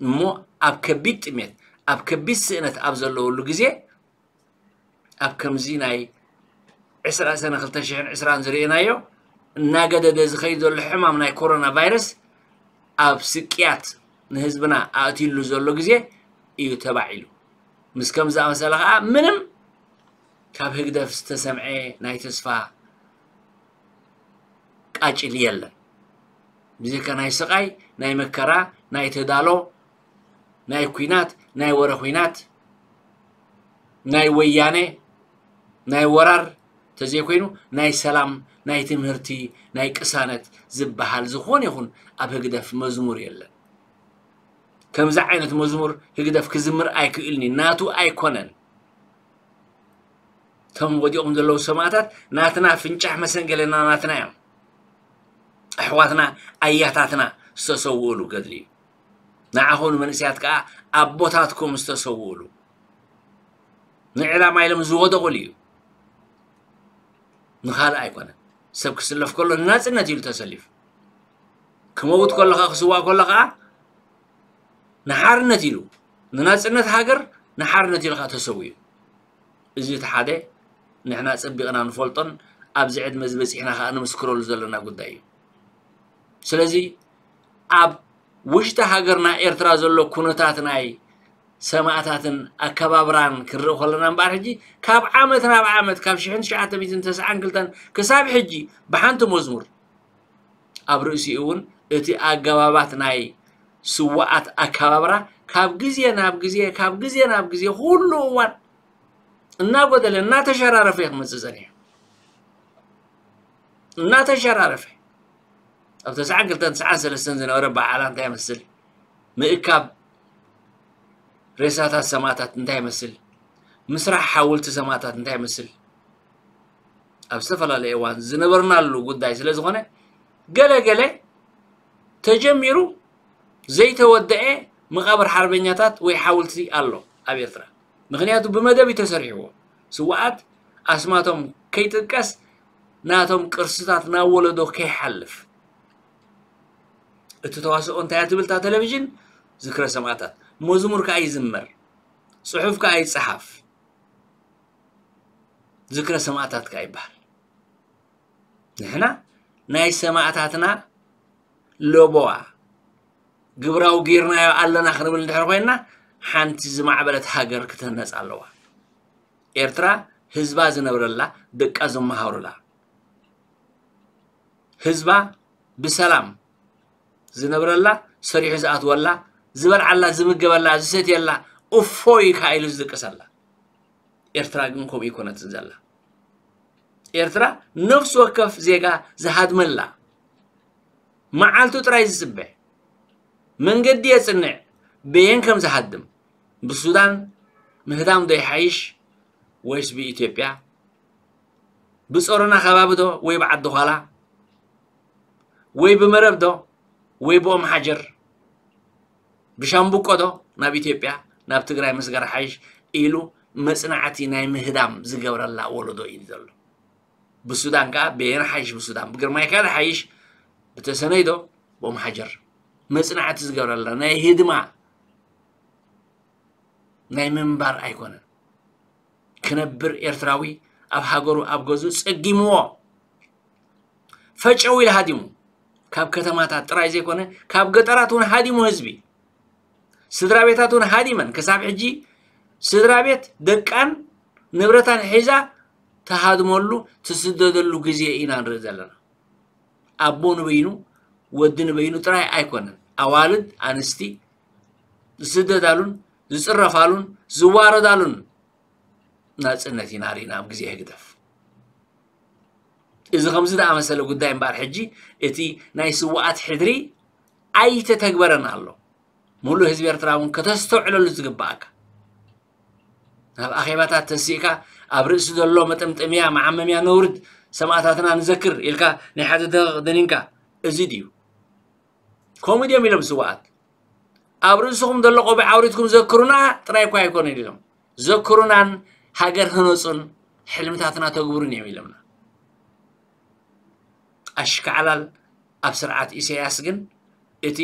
እሞ ኣብ ከቢድ ጥሜት፣ ኣብ ከቢድ ስእነት ኣብ ዘለወሉ ግዜ፣ ኣብ ከምዚ ናይ ዕስራ ሰነ ክልተ ሽሕን ዕስራን ዝርኤናዮ እናገደደ ዝኸይድ ዘሎ ሕማም ናይ ኮሮና ቫይረስ ኣብ ስቅያት ንህዝብና ኣእትዩሉ ዘሎ ግዜ እዩ ተባዒሉ። ምስ ከም ዝኣመሰለ ኸዓ ምንም ካብ ህግደፍ ዝተሰምዐ ናይ ተስፋ ቃጭል የለን። ብዘይካ ናይ ስቓይ፣ ናይ መከራ፣ ናይ ተዳሎ፣ ናይ ኲናት፣ ናይ ወረ ኲናት፣ ናይ ወያነ፣ ናይ ወራር ተዘይኮይኑ ናይ ሰላም፣ ናይ ትምህርቲ፣ ናይ ቅሳነት ዝበሃል ዝኾነ ይኹን ኣብ ህግደፍ መዝሙር የለን። ከምዚ ዓይነት መዝሙር ህግደፍ ክዝምር ኣይክእልን እዩ፣ ናቱ ኣይኮነን። እቶም ወዲቖም ዘለዉ ሰማእታት ናትና ፍንጫሕ መሰንገለና ናትና እዮም። ኣሕዋትና ኣያታትና ዝተሰውእሉ ገድሊ እዩ። ንዓኹም ንመንእሰያት ከኣ ኣቦታትኩም ዝተሰውእሉ ንዕላማ ኢሎም ዝወደቑሉ እዩ። ንኻልእ ኣይኮነን። ሰብ ክስለፍ ከሎ ንናጽነት ኢሉ ተሰሊፉ። ክመውት ከሎ ኸኣ ክስዋእ ከሎ ኸኣ ንሓርነት ኢሉ፣ ንናጽነት ሃገር ንሓርነት ኢሉ ኸኣ ተሰዊኡ። እዚ እቲ ሓደ ንሕና ጸቢቕና ንፈልጦን ኣብዚ ዕድመ እዚ በጺሕና ኸኣ ንምስክረሉ ዘለና ጉዳይ እዩ። ስለዚ ኣብ ውሽጢ ሃገርና ኤርትራ ዘሎ ኩነታት ናይ ሰማእታትን ኣከባብራን ክንርኢ ከለና እምበኣር ሕጂ ካብ ዓመት ናብ ዓመት ካብ ሽሕን ትሽዓተ ሚእትን ተስዓን ክልተን ክሳብ ሕጂ ብሓንቲ መዝሙር ኣብ ርእሲኡ እውን እቲ ኣገባባት ናይ ስውኣት ኣከባብራ ካብ ግዜ ናብ ግዜ ካብ ግዜ ናብ ግዜ ኩሉ እዋን እናጎደለ እናተሸራረፈ እዩ ክመፅእ ፀኒሑ። እናተሸራረፈ ኣብ ተስዓን ክልተን ተስዓን ሰለስተን ዝነበረ በዓላ እንታይ ይመስል? ምእካብ ሬሳታት ሰማእታት እንታይ ይመስል? ምስራሕ ሓወልቲ ሰማእታት እንታይ ይመስል? ኣብ ዝተፈላለየ እዋን ዝነበርናሉ ጉዳይ ስለ ዝኾነ ገለ ገለ ተጀሚሩ ዘይተወደአ መቓብር ሓርበኛታት ወይ ሓወልቲ ኣሎ ኣብ ኤርትራ። ምኽንያቱ ብመደብ እዩ ተሰሪሕዎ። ስውኣት ኣስማቶም ከይጥቀስ ናቶም ቅርስታት ናብ ወለዶ ከይሓልፍ። እቲ ተዋስኦ እንታይ እያ ትብል እታ ቴሌቪዥን? ዝክረ ሰማእታት። መዝሙር ከኣ ይዝመር፣ ጽሑፍ ከኣ ይጸሓፍ፣ ዝክረ ሰማእታት ከኣ ይበሃል። ንሕና ናይ ሰማእታትና ለበዋ ግብራዊ ጌርናዮ ኣለና ክንብል እንድሕር ኮይንና ሓንቲ ዝማዕበለት ሃገር ክትህነጽ ኣለዋ። ኤርትራ ህዝባ ዝነብረላ፣ ደቃ ዝመሃሩላ፣ ህዝባ ብሰላም ዝነብረላ፣ ሰሪሑ ዝኣትወላ፣ ዝበልዓላ፣ ዝምገበላ፣ ዝሰትየላ፣ እፎይ ከኣ ኢሉ ዝድቅሰላ። ኤርትራ ግን ከምኡ ኣይኮነትን ዘላ። ኤርትራ ነፍሲ ወከፍ ዜጋ ዝሃድመላ፣ መዓልቱ ጥራይ ዝጽበ፣ መንገዲ የጽንዕ፣ በየን ከም ዝሃድም። ብሱዳን ምህዳም ዶ ይሓይሽ ወይስ ብኢትዮጵያ? ብጾሮና ከባቢ ዶ ወይ ብዓዲ ዃላ? ወይ ብመረብ ዶ ወይ ብኦም ሓጀር? ብሻምብቆ ዶ ናብ ኢትዮጵያ ናብ ትግራይ ምስጋር ሓይሽ ኢሉ መጽናዕቲ ናይ ምህዳም ዝገብረላ ወለዶ እዩ ዘሎ። ብሱዳን ከኣ በየን ሓይሽ፣ ብሱዳን ብግርማይ ከኣ ሓይሽ፣ ብተሰነይ ዶ ብኦም ሓጀር መጽናዕቲ ዝገብረላ ናይ ህድማ ናይ ምንባር ኣይኮነን። ክነብር ኤርትራዊ ኣብ ሃገሩ ኣብ ገዝኡ ጸጊምዎ ፈጨው ኢሉ ሃዲሙ፣ ካብ ከተማታት ጥራይ ዘይኮነ ካብ ገጠራት እውን ሃዲሙ ህዝቢ፣ ስድራ ቤታት እውን ሃዲመን ክሳብ ሕጂ ስድራ ቤት ደቃን ንብረታን ሒዛ ትሃድመሉ ትስደደሉ ግዜ ኢና ንርኢ ዘለና። ኣቦ ንበይኑ ወዲ ንበይኑ ጥራይ ኣይኮነን፣ ኣዋልድ ኣንስቲ ዝስደዳሉን ዝጽረፋሉን ዝዋረዳሉን ናጽነት ኢና ርኢና ኣብ ግዜ ህግደፍ። እዚ ከምዚ ዝኣመሰለ ጉዳይ እምበኣር ሕጂ እቲ ናይ ስውኣት ሕድሪ ኣይተተግበረን ኣሎ። ሙሉእ ህዝቢ ኤርትራ እውን ከተስተውዕለሉ ዝግባኣካ። ናብ ኣኼባታት ተሲእካ ኣብ ርእሲ ዘሎ መጠምጠምያ መዓመምያ ነውርድ ሰማእታትና ንዘክር ኢልካ ናይ ሓደ ደቂቕ ደኒንካ፣ እዚ ድዩ? ከምኡ ድዮም ኢሎም ስውኣት? ኣብ ርእስኹም ዘሎ ቆቢዕ ኣውሪድኩም ዘክሩና ጥራይ እኳ ኣይኮነን ኢሎም። ዘክሩናን ሃገር ህነጹን ሕልምታትና ተግብሩን እዮም ኢሎምና። ኣሽካዕላል ኣብ ስርዓት ኢሳያስ ግን እቲ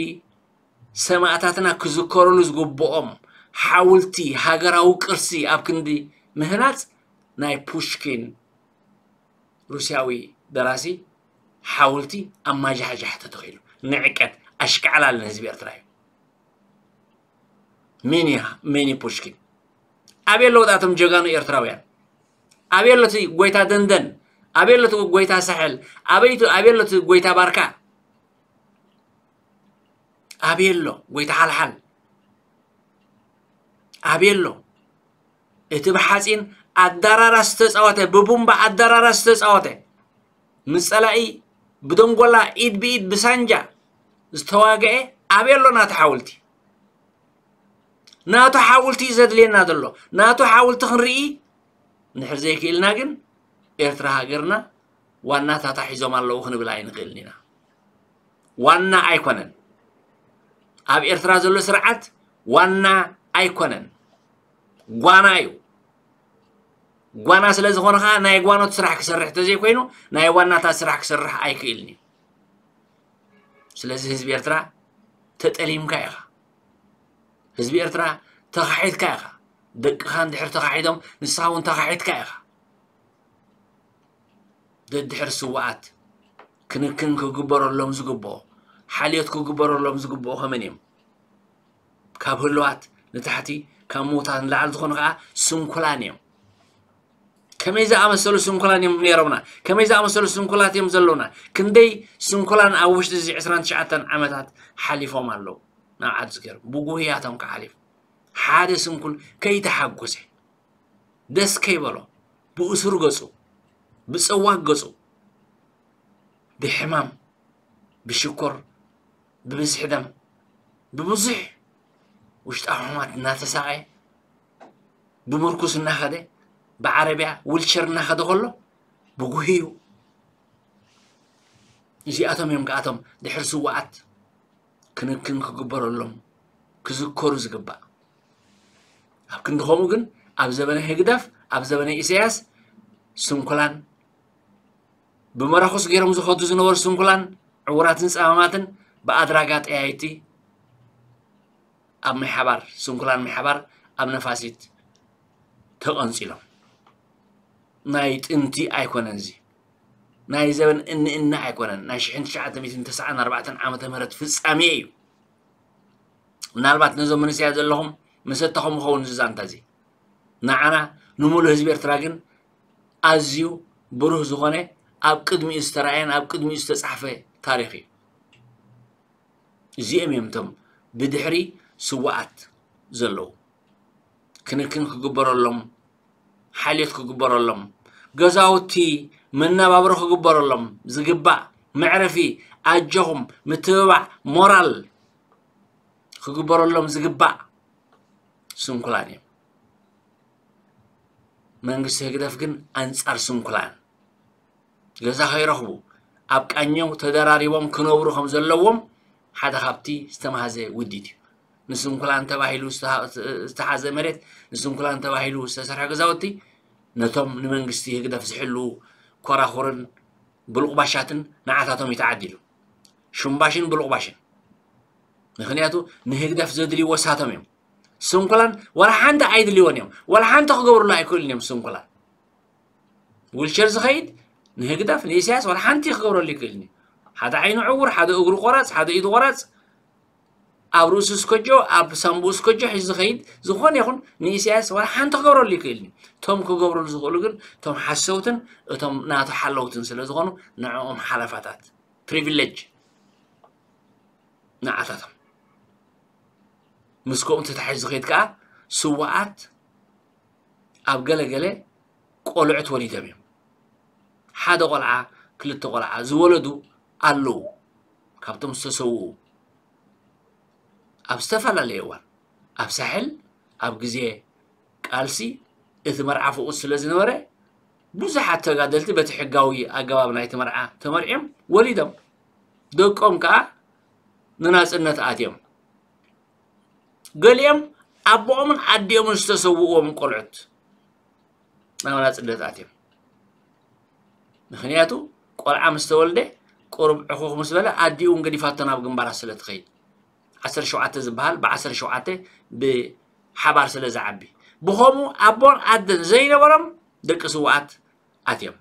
ሰማእታትና ክዝከሩሉ ዝግብኦም ሓውልቲ ሃገራዊ ቅርሲ ኣብ ክንዲ ምህናጽ ናይ ፑሽኪን ሩስያዊ ደራሲ ሓውልቲ ኣብ ማጃሕጃሕ ተተኺሉ። ንዕቀት ኣሽካዕላል ንህዝቢ ኤርትራ እዩ። ሜንያ ሜኒ ፑሽኪን ኣበይ ኣለዉ እቶም ጀጋኑ ኤርትራውያን? ኣበይ ኣሎ እቲ ጎይታ ደንደን? ኣበይ ኣሎ እቲ ጎይታ ሳሕል? ኣበይ እቲ- ኣበይ ኣሎ እቲ ጎይታ ባርካ? ኣበይ ኣሎ ጎይታ ሓልሓል? ኣበይ ኣሎ እቲ ብሓፂን ኣዳራራ ዝተፃወተ፣ ብቡምባ ኣዳራራ ዝተፃወተ፣ ምስ ፀላኢ ብደንጎላ ኢድ ብኢድ ብሳንጃ ዝተዋግአ? ኣበይ ኣሎ ናቱ ሓውልቲ? ናቱ ሓውልቲ እዩ ዘድልየና ዘሎ። ናቱ ሓውልቲ ክንርኢ እንድሕር ዘይክእልና ግን ኤርትራ ሃገርና ዋናታታ ሒዞም ኣለዉ ክንብል ኣይንኽእልን ኢና። ዋና ኣይኮነን። ኣብ ኤርትራ ዘሎ ስርዓት ዋና ኣይኮነን። ጓና እዩ። ጓና ስለ ዝኾነ ኸዓ ናይ ጓኖት ስራሕ ክሰርሕ ተዘይኮይኑ ናይ ዋናታት ስራሕ ክሰርሕ ኣይክእልን እዩ። ስለዚ ህዝቢ ኤርትራ ተጠሊምካ ኢኻ። ህዝቢ ኤርትራ ተኻሒድካ ኢኻ። ደቅኻ እንድሕር ተኻሒዶም ንስኻ እውን ተኻሒድካ ኢኻ። ደድሕር ስውኣት ክንክን ክግበረሎም ዝግብኦ፣ ሓልዮት ክግበረሎም ዝግብኦ ከመን እዮም? ካብ ህሉዋት ንታሕቲ፣ ካብ ምዉታት ንላዕሊ ዝኾኑ ከዓ ስንኩላን እዮም። ከመይ ዝኣመሰሉ ስንኩላን እዮም ነይሮምና? ከመይ ዝኣመሰሉ ስንኩላት እዮም ዘለውና? ክንደይ ስንኩላን ኣብ ውሽጢ እዚ ዕስራን ትሽዓተን ዓመታት ሓሊፎም ኣለዉ ናብ ዓዲ ዝገርም ብጉህያቶም ክሓሊፍ ሓደ ስንኩል ከይተሓጎሰ ደስ ከይበሎ ብእሱር ገጹ፣ ብጸዋግ ገጹ፣ ብሕማም፣ ብሽኮር፣ ብብዝሒ ደም፣ ብብዙሕ ውሽጣዊ ሕማት እናተሳቐየ፣ ብምርኩስ እናኸደ፣ ብዓረብያ ዊልቸር እናኸደ ከሎ ብጉህዩ። እዚኣቶም እዮም ከኣቶም ድሕሪ ስዋኣት ክንክን ክግበረሎም ክዝከሩ ዝግባእ። ኣብ ክንዲ ከምኡ ግን ኣብ ዘበነ ህግደፍ፣ ኣብ ዘበነ ኢሳያስ ስንኩላን ብመራኹስ ገይሮም ዝኸዱ ዝነበሩ ስንኩላን ዕውራትን ጸማማትን ብኣድራጋ ጠያይቲ ኣብ ምሕባር ስንኩላን ምሕባር ኣብ ነፋሲት ተቐንጺሎም። ናይ ጥንቲ ኣይኮነን እዚ። ናይ ዘበን እኒ እኒ ኣይኮነን። ናይ ሽሕን ትሽዓተ ሚእትን ተስዓን ኣርባዕተን ዓመተ ምህረት ፍጻሜ እዩ። ምናልባት ነዞም መንእሰያት ዘለኹም መሰተኹም ይኸውን እዚ ዛንታ እዚ። ንዓና ንምሉእ ህዝቢ ኤርትራ ግን ኣዝዩ ብሩህ ዝኾነ ኣብ ቅድሚኡ ዝተራእየን ኣብ ቅድሚኡ ዝተጻሕፈ ታሪኽ እዩ። እዚኦም እዮም እቶም ብድሕሪ ስዋኣት ዘለዉ። ክንክን ክግበረሎም፣ ሓልዮት ክግበረሎም፣ ገዛውቲ መነባብሮ ክግበረሎም ዝግባእ፣ መዕረፊ፣ ኣጆኹም፣ ምትብባዕ፣ ሞራል ክግበረሎም ዝግባእ ስንኩላን እዮም። መንግስቲ ህግደፍ ግን ኣንጻር ስንኩላን ገዛ ከይረኽቡ ኣብ ቃኘው ተደራሪቦም ክነብሩ ከም ዘለዎም ሓደ ካብቲ ዝተማህዘ ውዲት እዩ። ንስንኩላን ተባሂሉ ዝተሃ-፣ ዝተሓዘ መሬት፣ ንስንኩላን ተባሂሉ ዝተሰርሐ ገዛውቲ ነቶም ንመንግስቲ ህግደፍ ዝሕልዉ ኮራኹርን ብሉቕባሻትን ንዓታቶም እዩ ተዓዲሉ። ሽምባሽን ብሉቕባሽን። ምኽንያቱ ንህግደፍ ዘድልይዎ ሳቶም እዮም። ስንኩላን ዋላ ሓንቲ ኣይድልይዎን እዮም። ዋላ ሓንቲ ክገብሩሉ ኣይክእሉን እዮም ስንኩላን። ዊልቸር ዝኸይድ ንህግደፍ ንኢሳያስ ዋላ ሓንቲ ክገብረሉ ይክእልን እዩ። ሓደ ዓይኑ ዕውር፣ ሓደ እግሩ ቆራጽ፣ ሓደ ኢዱ ቆራጽ፣ ኣብ ርእሱ ስከጆ፣ ኣብ ሳንቡኡ ስከጆ ሒዙ ዝኸይድ ዝኾነ ይኹን ንኢሳያስ ዋላ ሓንቲ ክገብረሉ ይክእልን እዩ። እቶም ክገብረሉ ዝኽእሉ ግን እቶም ሓሰውትን እቶም ናቱ ሓለውትን ስለ ዝኾኑ ንዕኦም ሓለፋታት፣ ፕሪቪሌጅ ንዓታቶም። ምስ ከምኡ ተታሒዙ ዝኸይድ ከኣ ስዋኣት ኣብ ገለ ገለ ቆልዑት ወሊዶም እዮም። ሓደ ቆልዓ፣ ክልተ ቆልዓ ዝወለዱ ኣለዉ። ካብቶም ዝተሰውኡ ኣብ ዝተፈላለየ እዋን፣ ኣብ ሳሕል፣ ኣብ ግዜ ቃልሲ እቲ መርዓ ፍቑድ ስለ ዝነበረ፣ ብዙሓት ተጋደልቲ በቲ ሕጋዊ ኣገባብ ናይቲ መርዓ ተመርዕዮም ወሊዶም። ደቆም ከኣ ንናጽነት ኣትዮም። ገሊኦም ኣቦኦምን ኣዲኦምን ዝተሰውእዎም ቆልዑት ናብ ናጽነት ኣትዮም። ምኽንያቱ ቆልዓ ምስ ተወልደ ቁሩብ ዕኹኽ ምስ በለ ኣዲኡ እውን ገዲፋቶ ናብ ግንባራት ስለ ትኸይድ። ዓሰርተ ሸውዓተ ዝበሃል ብዓሰርተ ሸውዓተ ብሓባር ስለ ዝዓቢ። ብኸምኡ ኣቦን ኣደን ዘይነበሮም ደቂ ስውኣት ኣትዮም።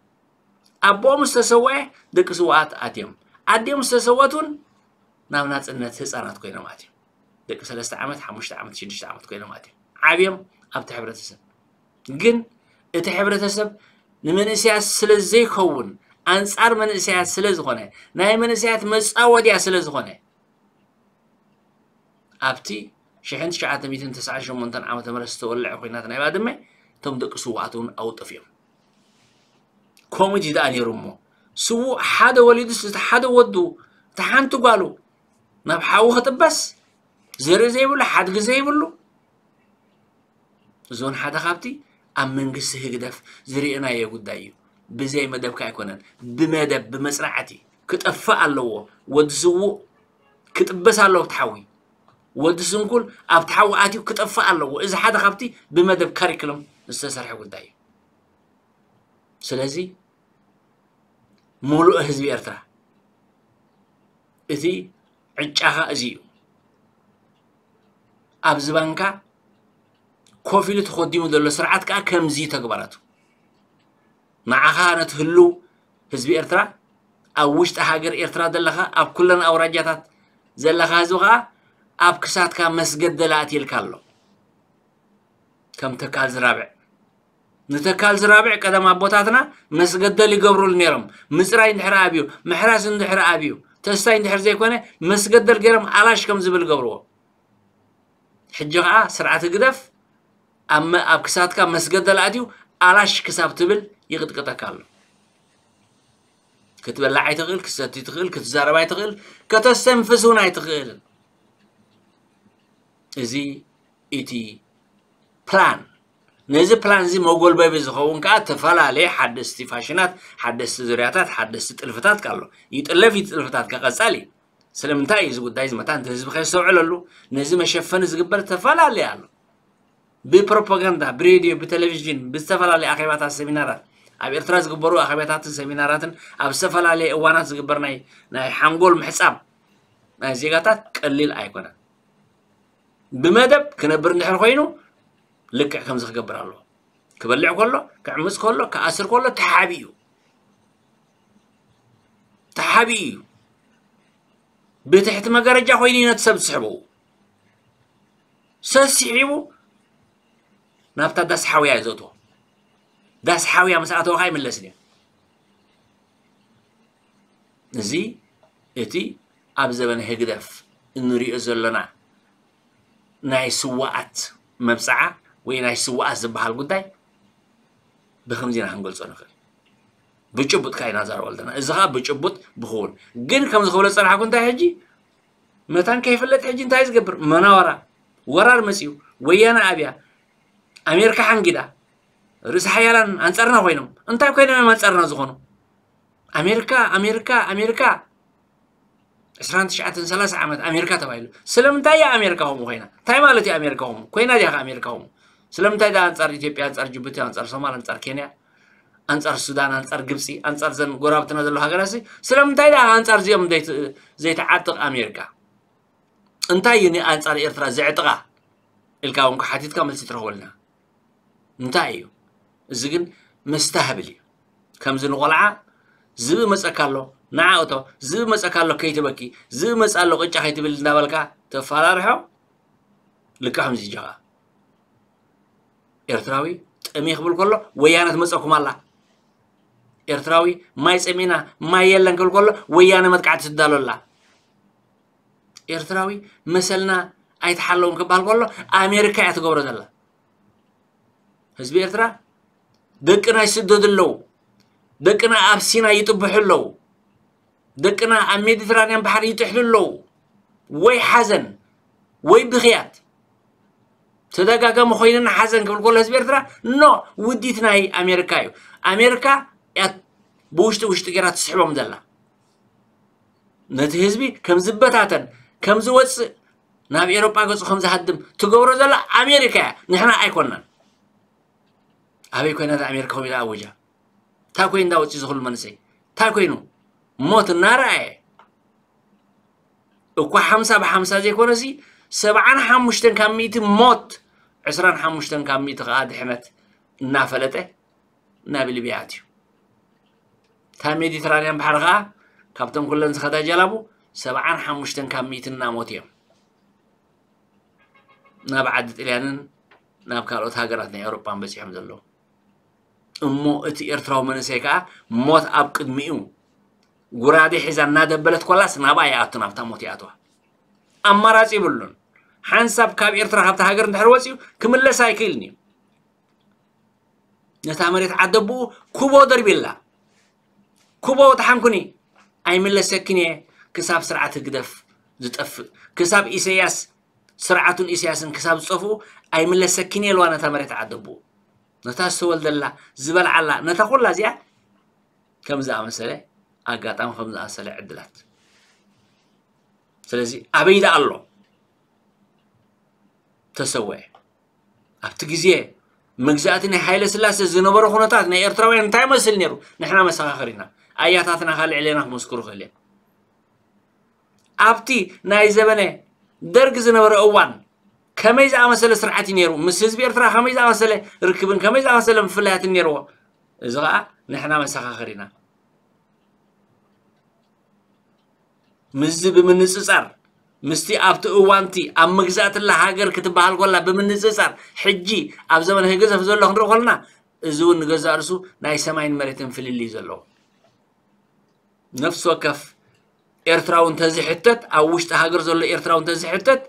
ኣቦኦም ዝተሰወአ ደቂ ስውኣት ኣትዮም። ኣዲኦም ዝተሰወት እውን ናብ ናጽነት ህጻናት ኮይኖም ኣትዮም። ደቂ ሰለስተ ዓመት፣ ሓሙሽተ ዓመት፣ ሽዱሽተ ዓመት ኮይኖም ኣትዮም። ዓብዮም ኣብቲ ሕብረተሰብ። ግን እቲ ሕብረተሰብ ንመንእሰያት ስለ ዘይከውን፣ ኣንጻር መንእሰያት ስለ ዝኾነ፣ ናይ መንእሰያት መጻወድያ ስለ ዝኾነ፣ ኣብቲ ሽሕን ትሽዓተ ሚእትን ተስዓን ሸሞንተን ዓመተ ምህረት ዝተወልዐ ኲናት ናይ ባድመ፣ እቶም ደቂ ስውኣት እውን ኣብኡ ጠፊኦም። ኮሚቲ ደኣ ነይሩ እሞ፣ ስዉእ ሓደ ወሊዱስ፣ እቲ ሓደ ወዱ፣ እታ ሓንቲ ጓሉ፣ ናብ ሓዊ ክጥበስ፣ ዘርኢ ዘይብሉ፣ ሓድጊ ዘይብሉ፣ እዚ እውን ሓደ ካብቲ ኣብ መንግስቲ ህግደፍ ዝርኢናዮ ጉዳይ እዩ። ብዘይ መደብካ ኣይኮነን፣ ብመደብ፣ ብመጽናዕቲ ክጠፍእ ኣለዎ። ወዲ ስዉእ ክጥበስ ኣለዎ ኣብቲ ሓዊ። ወዲ ስንኩል ኣብቲ ሓዊ ኣትዩ ክጠፍእ ኣለዎ። እዚ ሓደ ካብቲ ብመደብ ካሪክለም ዝተሰርሐ ጉዳይ እዩ። ስለዚ፣ ምሉእ ህዝቢ ኤርትራ፣ እቲ ዕጫኻ እዚ እዩ። ኣብዚ ባንካ ኮፍ ኢሉ ተኾዲሙ ዘሎ ስርዓት ከኣ ከምዚ እዩ ተግባራቱ። ንዓኻ ነቲ ህሉው ህዝቢ ኤርትራ፣ ኣብ ውሽጢ ሃገር ኤርትራ ዘለኻ፣ ኣብ ኩለን ኣውራጃታት ዘለኻ ህዝቢ ከኣ ኣብ ክሳድካ መስገደል ኣእትየልካ ኣሎ። ከም ተካል ዝራብዕ። ንተካል ዝራብዕ ቀደም ኣቦታትና መስገደል ይገብሩሉ ነይሮም። ምጽራይ እንድሕር ኣብዩ፣ ምሕራስ እንድሕር ኣብዩ፣ ተስታይ እንድሕር ዘይኮነ መስገደል ገይሮም ኣላሽ ከም ዝብል ገብርዎ። ሕጂ ኸኣ ስርዓት ህግደፍ ኣብ መ- ኣብ ክሳትካ መስገደል ኣትዩ ኣላሽ ክሳብ ትብል ይቕጥቅጠካ ኣሎ። ክትበላዕ ኣይትኽእል፣ ክትሰቲ ትኽእል፣ ክትዛረብ ኣይትኽእል፣ ከተስተንፍስ እውን ኣይትኽእልን። እዚ እቲ ፕላን። ነዚ ፕላን እዚ መጎልበቢ ዝኸውን ከዓ ተፈላለየ ሓደስቲ ፋሽናት፣ ሓደስቲ ዙርያታት፣ ሓደስቲ ጥልፍታት ኣሎ። ይጥለፍ እዩ፣ ጥልፍታት ከቐጻል እዩ። ስለምንታይ እዩ እዚ ጉዳይ እዚ መታን ህዝቢ ከየስተውዕለሉ? ነዚ መሸፈኒ ዝግበር ተፈላለየ ኣሎ። ብፕሮፓጋንዳ፣ ብሬድዮ፣ ብቴሌቪዥን፣ ብዝተፈላለየ ኣኼባታት፣ ሰሚናራት፣ ኣብ ኤርትራ ዝግበሩ ኣኼባታትን ሰሚናራትን ኣብ ዝተፈላለየ እዋናት ዝግበር ናይ ናይ ሓንጎል ምሕጻብ ናይ ዜጋታት ቀሊል ኣይኮነን። ብመደብ ክነብር እንድሕር ኮይኑ ልክዕ ከምዚ ክገብር ኣለዎ። ክበልዕ ከሎ፣ ክዕምጽ ከሎ፣ ክኣስር ከሎ ተሓቢኡ ተሓቢኡ እዩ። ብትሕቲ መጋረጃ ኮይኑ እዩ ነቲ ሰብ ዝስሕቦ። ሰሲሒቡ ናብታ ዳስ ሓውያ እዩ ዘእትዎ። ዳስ ሓውያ ምስ ኣተወ ከዓ ይምለስን እዩ። እዚ እቲ ኣብ ዘበነ ህግደፍ እንሪኦ ዘለና ናይ ስዋኣት መብፅዓ ወይ ናይ ስዋኣት ዝበሃል ጉዳይ ብከምዚ ኢና ክንገልፆ ንኽእል። ብጭቡጥ ከዓ ኢና ንዛረበሉ ዘለና። እዚ ከዓ ብጭቡጥ ብክውን ግን ከምዚ ክብሎ ዝፀናሕኩ እንታይ ሕጂ መታን ከይፍለጥ ሕጂ እንታይ ዝገብር መናወራ ወራር መፅዩ ወያነ ኣብያ ኣሜሪካ ሓንጊዳ ርእሲ ሓያላን ኣንፃርና ኮይኖም እንታይ ኮይኖም እዮም ኣንፃርና ዝኾኑ ኣሜሪካ ኣሜሪካ ኣሜሪካ ዕስራን ትሽዓተን ሰላሳ ዓመት ኣሜሪካ ተባሂሉ ስለምንታይ እያ ኣሜሪካ ከምኡ ኮይና እንታይ ማለት እዩ ኣሜሪካ ከምኡ ኮይና ድያ ኣሜሪካ ከምኡ ስለምንታይ ዳ ኣንፃር ኢትዮጵያ ኣንፃር ጅቡቲ ኣንፃር ሶማል ኣንፃር ኬንያ ኣንፃር ሱዳን ኣንፃር ግብፂ ኣንፃር ዘን ጎራብትና ዘለዉ ሃገራት ስለምንታይ ዳ ኣንፃር እዚኦም ዘይትዓጥቕ ኣሜሪካ እንታይ እዩ ንኣንፃር ኤርትራ ዘዕጥቓ ኢልካ እውን ሓቲትካ መልሲ ትረኽበልና እንታይ እዩ እዚ ግን መስተሃብል እዩ ከምዚ ንቆልዓ ዝብኢ መፀካ ኣሎ ንዓ እቶ ዝብኢ መፀካ ኣሎ ከይትበኪ ዝብኢ መፃ ኣሎ ቅጫ ከይትብል እንዳበልካ ተፈራርሖ ልክዕ ከምዚ ጀኻ ኤርትራዊ ጠምየ ክብል ከሎ ወያነ ትመፀኩም ኣላ ኤርትራዊ ማይ ፀሚእና ማይ የለን ክብል ከሎ ወያነ መጥቃዕቲ ትዳሎ ኣላ ኤርትራዊ መሰልና ኣይተሓለውን ክበሃል ከሎ ኣሜሪካ እያ ትገብሮ ዘላ ህዝቢ ኤርትራ ደቅና ይስደዱ ኣለዉ ደቅና ኣብ ሲና ይጥብሑ ኣለዉ ደቅና ኣብ ሜዲትራንያን ባሕሪ ይጥሕሉ ኣለዉ ወይ ሓዘን ወይ ብኽያት ተደጋጋሚ ኮይንና ሓዘን ክብል ከሎ ህዝቢ ኤርትራ ኖ ውዲት ናይ ኣሜሪካ እዩ ኣሜሪካ እያ ብውሽጢ ውሽጢ ገይራ ትስሕቦም ዘላ ነቲ ህዝቢ ከም ዝበታተን ከም ዝወፅእ ናብ ኤሮጳ ገፁ ከም ዝሃድም ትገብሮ ዘላ ኣሜሪካ እያ ንሕና ኣይኮናን ኣበይ ኮይና ኣሜሪካ ኮይና ኣወጃ እንታይ ኮይኑ እንዳወፅእ ዝኽሉ መንእሰይ እንታይ ኮይኑ ሞት እናረኣየ እኳ ሓምሳ ብሓምሳ ዘይኮነሲ ሰብዓን ሓሙሽተን ካብ ሚእቲ ሞት ዕስራን ሓሙሽተን ካብ ሚእቲ ከዓ ድሕነት እናፈለጠ ናብ ሊብያ ኣትዩ እታ ሜዲትራንያን ባሕሪ ከዓ ካብቶም ኩለን ዝኸዳ ጀላቡ ሰብዓን ሓሙሽተን ካብ ሚእቲ እናሞት እዮም ናብ ዓዲ ጥልያንን ናብ ካልኦት ሃገራት ናይ ኤውሮጳን በፂሖም ዘለዉ እሞ እቲ ኤርትራዊ መንእሰይ ከዓ ሞት ኣብ ቅድሚኡ ጉራዴ ሒዛ እናደበለት ኮላስ ናብኣ ይኣቱ ናብታ ሞት ይኣትዋ ኣማራፂ ይብሉን ሓንሳብ ካብ ኤርትራ ካብቲ ሃገር እንድሕር ወፂኡ ክምለስ ኣይክእልን እዩ ነታ መሬት ዓደብኡ ኩቦ ደርቢላ ኩቦ ተሓንኩኒ ኣይምለሰክን እየ ክሳብ ስርዓት ህግደፍ ዝጠፍእ ክሳብ ኢሰያስ ስርዓቱን ኢሰያስን ክሳብ ዝጠፍኡ ኣይምለሰክን እየ ኢልዋ ነታ መሬት ዓደብኡ ነታ ዝተወልደላ ዝበልዓላ ነታ ኩላ እዚኣ ከም ዝኣመሰለ ኣጋጣሚ ከም ዝኣመሰለ ዕድላት ስለዚ ኣበይ ደኣ ኣሎ ተሰወአ ኣብቲ ግዜ መግዛእቲ ናይ ሃይለ ስላሴ ዝነበረ ኩነታት ናይ ኤርትራውያን እንታይ መስል ነይሩ ንሕና መሰኻኽር ኢና ኣያታትና ካልዕ ሌና ክመስክሩ ክእል እዮም ኣብቲ ናይ ዘበነ ደርግ ዝነበረ እዋን ከመይ ዝኣመሰለ ስርዓት እዩ ነይሩ ምስ ህዝቢ ኤርትራ ከመይ ዝኣመሰለ ርክብን ከመይ ዝኣመሰለ ምፍላያትን ነይርዎ እዚ ከዓ ንሕና መሰኻኽር ኢና ምስዚ ብምንፅፃር ምስቲ ኣብቲ እዋንቲ ኣብ መግዛእትላ ሃገር ክትበሃል ኮላ ብምንፅፃር ሕጂ ኣብ ዘመን ህግዘፍ ዘሎ ክንርኢ ኮለና እዚ እውን ንገዛእ ርሱ ናይ ሰማይን መሬትን ፍልልይ ዘለዎ ነፍሲ ወከፍ ኤርትራዊ እንተዝሕተት ኣብ ውሽጢ ሃገር ዘሎ ኤርትራዊ እንተዝሕተት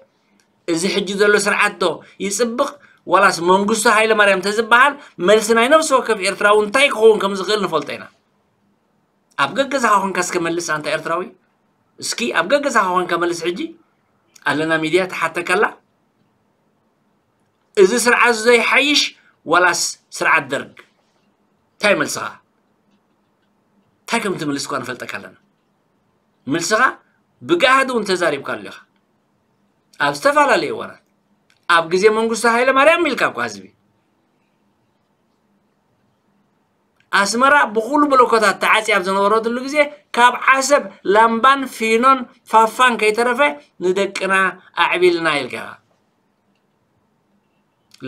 እዚ ሕጂ ዘሎ ስርዓት ዶ ይፅብቕ ዋላስ መንግስቱ ሃይለ ማርያም ተዝበሃል፣ መልሲ ናይ ነፍሲ ወከፍ ኤርትራዊ እንታይ ክኸውን ከም ዝኽእል ንፈልጦ ኢና። ኣብ ገገዛኻ ኮንካ እስከ መልስ ኣንታ ኤርትራዊ። እስኪ ኣብ ገገዛኻ ኮንካ መልስ። ሕጂ ኣለና ሚድያ ትሓተካ ኣላ። እዚ ስርዓት እዚ ዶ ይሓይሽ ዋላስ ስርዓት ደርግ? እንታይ መልስኻ? እንታይ ከም ትምልስ እኳ ንፈልጠካ ኣለና። መልስኻ ብጋህዲ እውን ተዛሪብካ ኣሎ ኢኻ። ኣብ ዝተፈላለዩ እዋናት፣ ኣብ ግዜ መንግስቱ ሃይለ ማርያም ኢልካ እኳ ህዝቢ ኣስመራ ብኹሉ ብሎኮታት ተዓጽያ ኣብ ዝነበረትሉ ግዜ፣ ካብ ዓሰብ ላምባን ፊኖን ፋፋን ከይተረፈ ንደቅና ኣዕቢልና ኢልካ ኢኻ።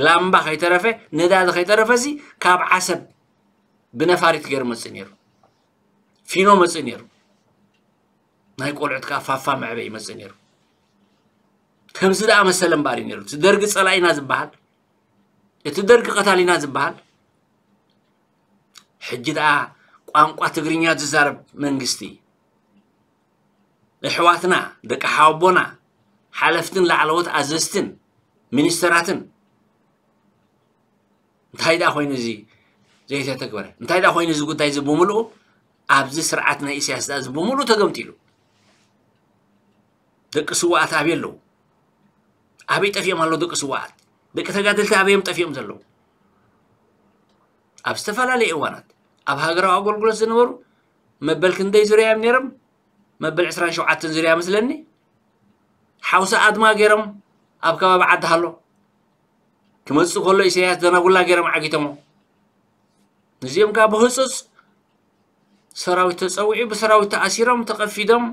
ላምባ ከይተረፈ፣ ነዳዲ ከይተረፈ ሲ ካብ ዓሰብ ብነፋሪት ገይሩ መጽእ ነይሩ። ፊኖ መጽእ ነይሩ። ናይ ቆልዑት ከኣ ፋፋ መዕበይ ይመጽእ ነይሩ። ከምዚ ደኣ መሰለ እምበኣር እዩ ነይሩ። እቲ ደርጊ ጸላኢና ዝበሃል፣ እቲ ደርጊ ቀታሊና ዝበሃል፣ ሕጂ ደኣ ቋንቋ ትግርኛ ዝዛረብ መንግስቲ፣ ኣሕዋትና፣ ደቂ ሓወቦና፣ ሓለፍትን ላዕለዎት ኣዘዝትን፣ ሚኒስተራትን፣ እንታይ ደኣ ኮይኑ እዚ ዘይተተግበረ? እንታይ ደኣ ኮይኑ እዚ ጉዳይ እዚ ብምልኡ ኣብዚ ስርዓት ናይ ኢሳያስ ደኣ እዚ ብምልኡ ተገምጢሉ? ደቂ ስዋኣት ኣበይ ኣለዉ? ኣበይ ጠፊኦም ኣለዉ ደቂ ስዋኣት? ደቂ ተጋደልቲ ኣበይ እዮም ጠፊኦም ዘለዉ? ኣብ ዝተፈላለዩ እዋናት ኣብ ሃገራዊ ኣገልግሎት ዝነበሩ መበል ክንደይ ዙርያ እዮም ነይሮም? መበል ዕስራን ሸውዓተን ዙርያ መስለኒ። ሓውሲ ኣድማ ገይሮም ኣብ ከባቢ ዓዲ ሃሎ ክመጽእ ከሎ ኢሳያስ ደናጉላ ገይሮም ዓጊቶሞ። ነዚኦም ከኣ ብህጹጽ ሰራዊት ተጸዊዑ፣ ብሰራዊት ተኣሲሮም፣ ተቐፊዶም።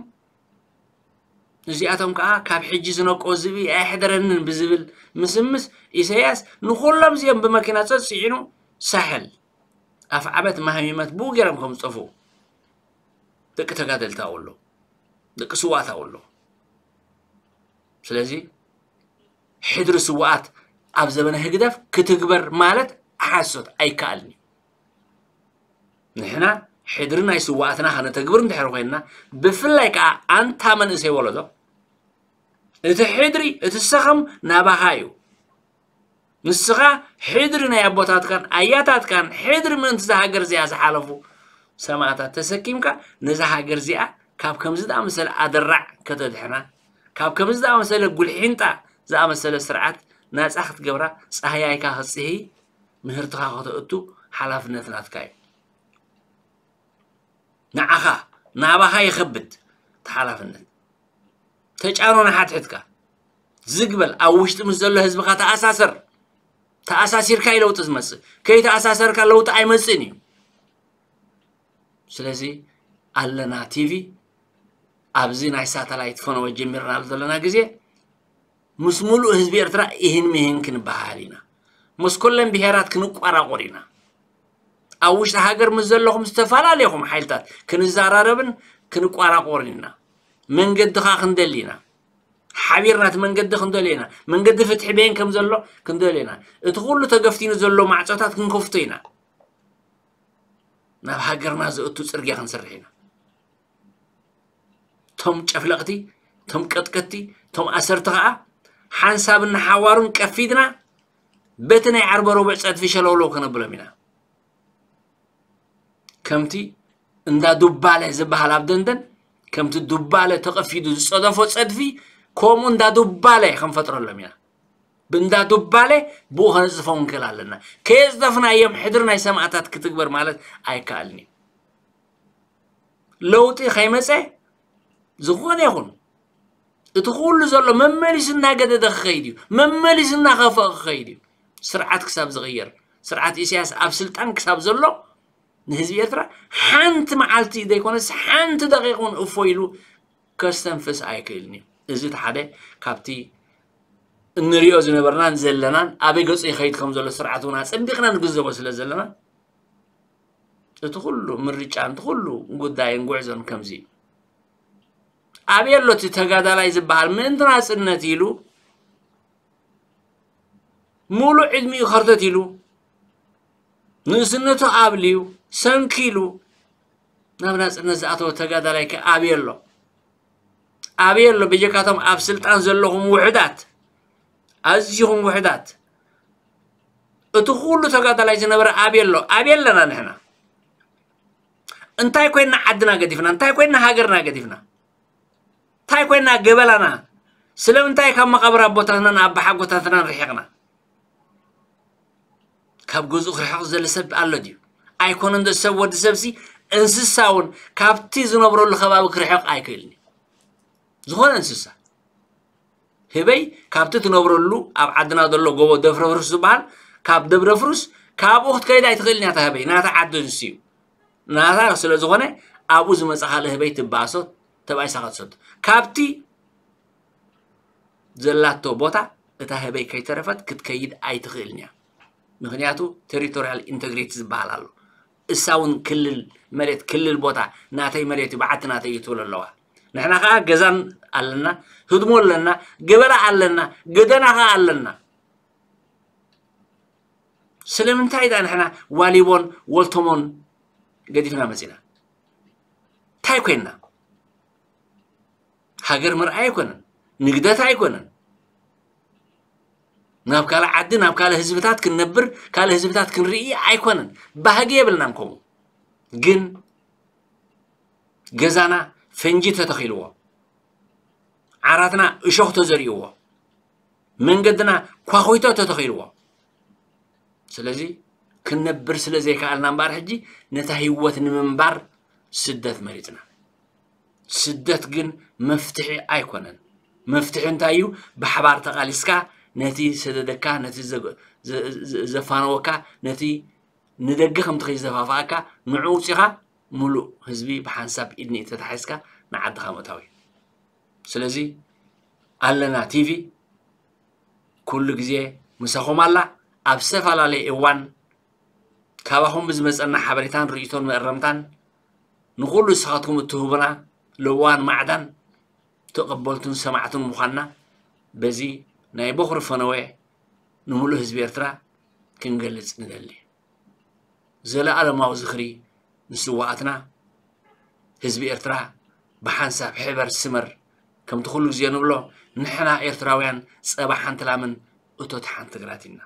እዚኣቶም ከኣ ካብ ሕጂ ዝነቆ ዝብኢ ኣየሕደረንን ብዝብል ምስምስ ኢሳያስ ንኹሎም እዚኦም ብመኪና ጸጽዒኑ ሳሕል ኣፍዓበት ማህሚመት ብኡ ገይሮም ከም ዝጠፍኡ ደቂ ተጋደልቲ ኣብኡ ኣለዉ፣ ደቂ ስዋኣት ኣብኡ ኣለዉ። ስለዚ ሕድሪ ስዋኣት ኣብ ዘበነ ህግደፍ ክትግበር ማለት ሓሶት ኣይከኣልን እዩ። ንሕና ሕድሪ ናይ ስዋኣትና ከነተግብር እንድሕር ኮይንና፣ ብፍላይ ከኣ ኣንታ መንእሰይ ወለዶ፣ እቲ ሕድሪ፣ እቲ ሰኸም ናባኻ እዩ። ንስኻ ሕድሪ ናይ ኣቦታትካን ኣያታትካን፣ ሕድሪ ምእንቲ እዛ ሃገር እዚኣ ዝሓለፉ ሰማእታት ተሰኪምካ፣ ነዛ ሃገር እዚኣ ካብ ከምዚ ዝኣመሰለ ኣደራዕ ከተድሕና፣ ካብ ከምዚ ዝኣመሰለ ጉልሒንጣ ዝኣመሰለ ስርዓት ናጻ ክትገብራ፣ ጻህያይካ ክትጽህይ፣ ምህርትኻ ከተእቱ ሓላፍነት ናትካ እዩ። ንዓኻ፣ ናባኻ ይኸብድ እቲ ሓላፍነት። ተጫኖ ንሓድሕድካ። ዝግ በል፣ ኣብ ውሽጢ ምስ ዘሎ ህዝብኻ ተኣሳሰር። ተኣሳሲርካ እዩ ለውጢ ዝመጽእ። ከይተኣሳሰርካ ለውጢ ኣይመጽእን እዩ። ስለዚ ኣለና ቲቪ ኣብዚ ናይ ሳተላይት ፈነወ ጀሚርናሉ ዘለና ግዜ፣ ምስ ሙሉእ ህዝቢ ኤርትራ ኢህን ሚህን ክንበሃል ኢና። ምስ ኩለን ብሄራት ክንቋራቆር ኢና። ኣብ ውሽጢ ሃገር ምስ ዘለኹም ዝተፈላለየኹም ሓይልታት ክንዘራረብን ክንቋራቆርን ኢና። መንገድኻ ክንደሊ ኢና። ሓቢርና እቲ መንገዲ ክንደልዮ ኢና። መንገዲ ፍትሒ በየን ከም ዘሎ ክንደልዮ ኢና። እቲ ኩሉ ተገፍቲኑ ዘሎ ማዕጾታት ክንከፍቶ ኢና። ናብ ሃገርና ዘእቱ ጽርግያ ክንሰርሕ ኢና። ቶም ጨፍለቕቲ፣ ቶም ቀጥቀቲ፣ ቶም ኣሰርቲ ኸኣ ሓንሳብን ንሓዋሩን ቀፊድና በቲ ናይ ዓርበ ረቡዕ ጸድፊ ሸለውለው ከነብሎም ኢና። ከምቲ እንዳ ዱባለ ዝበሃል ኣብ ደንደን፣ ከምቲ ዱባለ ተቐፊዱ ዝጸደፎ ጸድፊ፣ ከምኡ እንዳ ዱባለ ክንፈጥረሎም ኢና። ብእንዳ ዱባለ ብኡ ከነጽድፎም ክንክእል ኣለና። ከየጽደፍናዮም ሕድሪ ናይ ሰማእታት ክትግበር ማለት ኣይከኣልን እዩ። ለውጢ ከይመጸ ዝኾነ ይኹን እቲ ኩሉ ዘሎ መመሊሱ እናገደደ ክኸይድ እዩ። መመሊሱ እናኸፍአ ክኸይድ እዩ። ስርዓት ክሳብ ዝቕየር፣ ስርዓት ኢሳያስ ኣብ ስልጣን ክሳብ ዘሎ ንህዝቢ ኤርትራ ሓንቲ መዓልቲ ዘይኮነስ ሓንቲ ደቂቕ እውን እፎ ኢሉ ከስተንፍስ ኣይክእልን እዩ። እዚ እቲ ሓደ ካብቲ እንሪኦ ዝነበርናን ዘለናን ኣበይ ገጹ ይኸይድ ከም ዘሎ ስርዓት እውን ኣጸቢቕና ንግንዘቦ ስለ ዘለና እቲ ኩሉ ምርጫን እቲ ኩሉ ጉዳይን ጉዕዞን ከምዚ እዩ። ኣበይ ኣሎ እቲ ተጋዳላይ ዝበሃል ምእንቲ ናጽነት ኢሉ ሙሉእ ዕድሚኡ ከርተት ኢሉ ንእስነቱ ኣብልዩ ሰንኪሉ ናብ ናጽነት ዝኣተወ ተጋዳላይ ከ ኣበይ ኣሎ? ኣበይ ኣሎ? በጀካቶም ኣብ ስልጣን ዘለኹም ውሑዳት፣ ኣዚኹም ውሑዳት፣ እቲ ኩሉ ተጋዳላይ ዝነበረ ኣበይ ኣሎ? ኣበይ ኣለና ንሕና? እንታይ ኮይና ዓድና ገዲፍና? እንታይ ኮይና ሃገርና ገዲፍና? እንታይ ኮይና ገበላና? ስለምንታይ ካብ መቓብር ኣቦታትናን ኣባሓጎታትናን ርሒቕና? ካብ ገዝኡ ክርሕቕ ዝደሊ ሰብ ኣሎ ድዩ? ኣይኮነን ዶ ሰብ፣ ወዲ ሰብሲ እንስሳ እውን ካብቲ ዝነብረሉ ከባቢ ክርሕቕ ኣይክእልን እዩ። ዝኾነ እንስሳ ህበይ ካብቲ ትነብረሉ ኣብ ዓድና ዘሎ ጎቦ ደፍረፍርስ ዝበሃል ካብ ደብረፍርስ ካብኡ ክትከይድ ኣይትኽእልን እያ። እታ ህበይ ናታ ዓዲ ንሱ እዩ። ናታ ስለ ዝኾነ ኣብኡ ዝመጻ ካልእ ህበይ ትበኣሶ፣ ተባኢሳ ክትሰዶ። ካብቲ ዘላቶ ቦታ እታ ህበይ ከይተረፈት ክትከይድ ኣይትኽእልን እያ። ምኽንያቱ ቴሪቶሪያል ኢንተግሪቲ ዝበሃል ኣሎ። እሳ እውን ክልል መሬት፣ ክልል ቦታ ናተይ መሬት እዩ፣ በዓቲ ናተይ እዩ ትብል ኣለዋ። ንሕና ከዓ ገዛን ኣለና፣ ህድሞ ኣለና፣ ገበላ ኣለና፣ ገደና ከዓ ኣለና። ስለምንታይ ዳ ንሕና ዋሊቦን ወልቶሞን ገዲፍና መፂና? እንታይ ኮይንና? ሃገር ምርኣይ ኣይኮነን፣ ንግደት ኣይኮነን፣ ናብ ካልእ ዓዲ ናብ ካልእ ህዝብታት ክንነብር ካልእ ህዝብታት ክንርኢ ኣይኮነን። ባህጊ የብልናን። ከምኡ ግን ገዛና ፈንጂ ተተኺልዎ፣ ዓራትና እሾኽ ተዘሪእዎ፣ መንገድና ኳኹይቶ ተተኺልዎ። ስለዚ ክንነብር ስለ ዘይከኣልና እምበኣር ሕጂ ነታ ህይወት ንምንባር ስደት መሪጽና። ስደት ግን መፍትሒ ኣይኮነን። መፍትሒ እንታይ እዩ? ብሓባር ተቓሊስካ ነቲ ሰደደካ፣ ነቲ ዘ-፣ ዘ-፣ ዘ-፣ ዘፋነወካ፣ ነቲ ንደገ ከም ትኸይድ ዝደፋፍኣካ ንዕኡ ውጺኻ ምሉእ ህዝቢ ብሓንሳብ ኢድ ንኢድ ተታሒዝካ ንዓድኻ ምእታው እዩ። ስለዚ ኣለና ቲቪ ኩሉ ግዜ ምሳኹም ኣላ። ኣብ ዝተፈላለየ እዋን ካባኹም ብዝመጸና ሓበሬታን ርእይቶን መእረምታን ንኹሉ ንስኻትኩም እትህቡና ልዋን ማዕዳን ተቐበልቱን ሰማዕቱን ምዃንና በዚ ናይ ቦኽሪ ፈነወ ንምሉእ ህዝቢ ኤርትራ ክንገልጽ ንደሊ። ዘለኣለማዊ ዝኽሪ ንስዋኣትና። ህዝቢ ኤርትራ ብሓንሳብ ሕበር ስመር፣ ከምቲ ኩሉ ግዜ ንብሎ ንሕና ኤርትራውያን ጸባ ሓንቲ ላምን እቶት ሓንቲ ግራትን ኢና።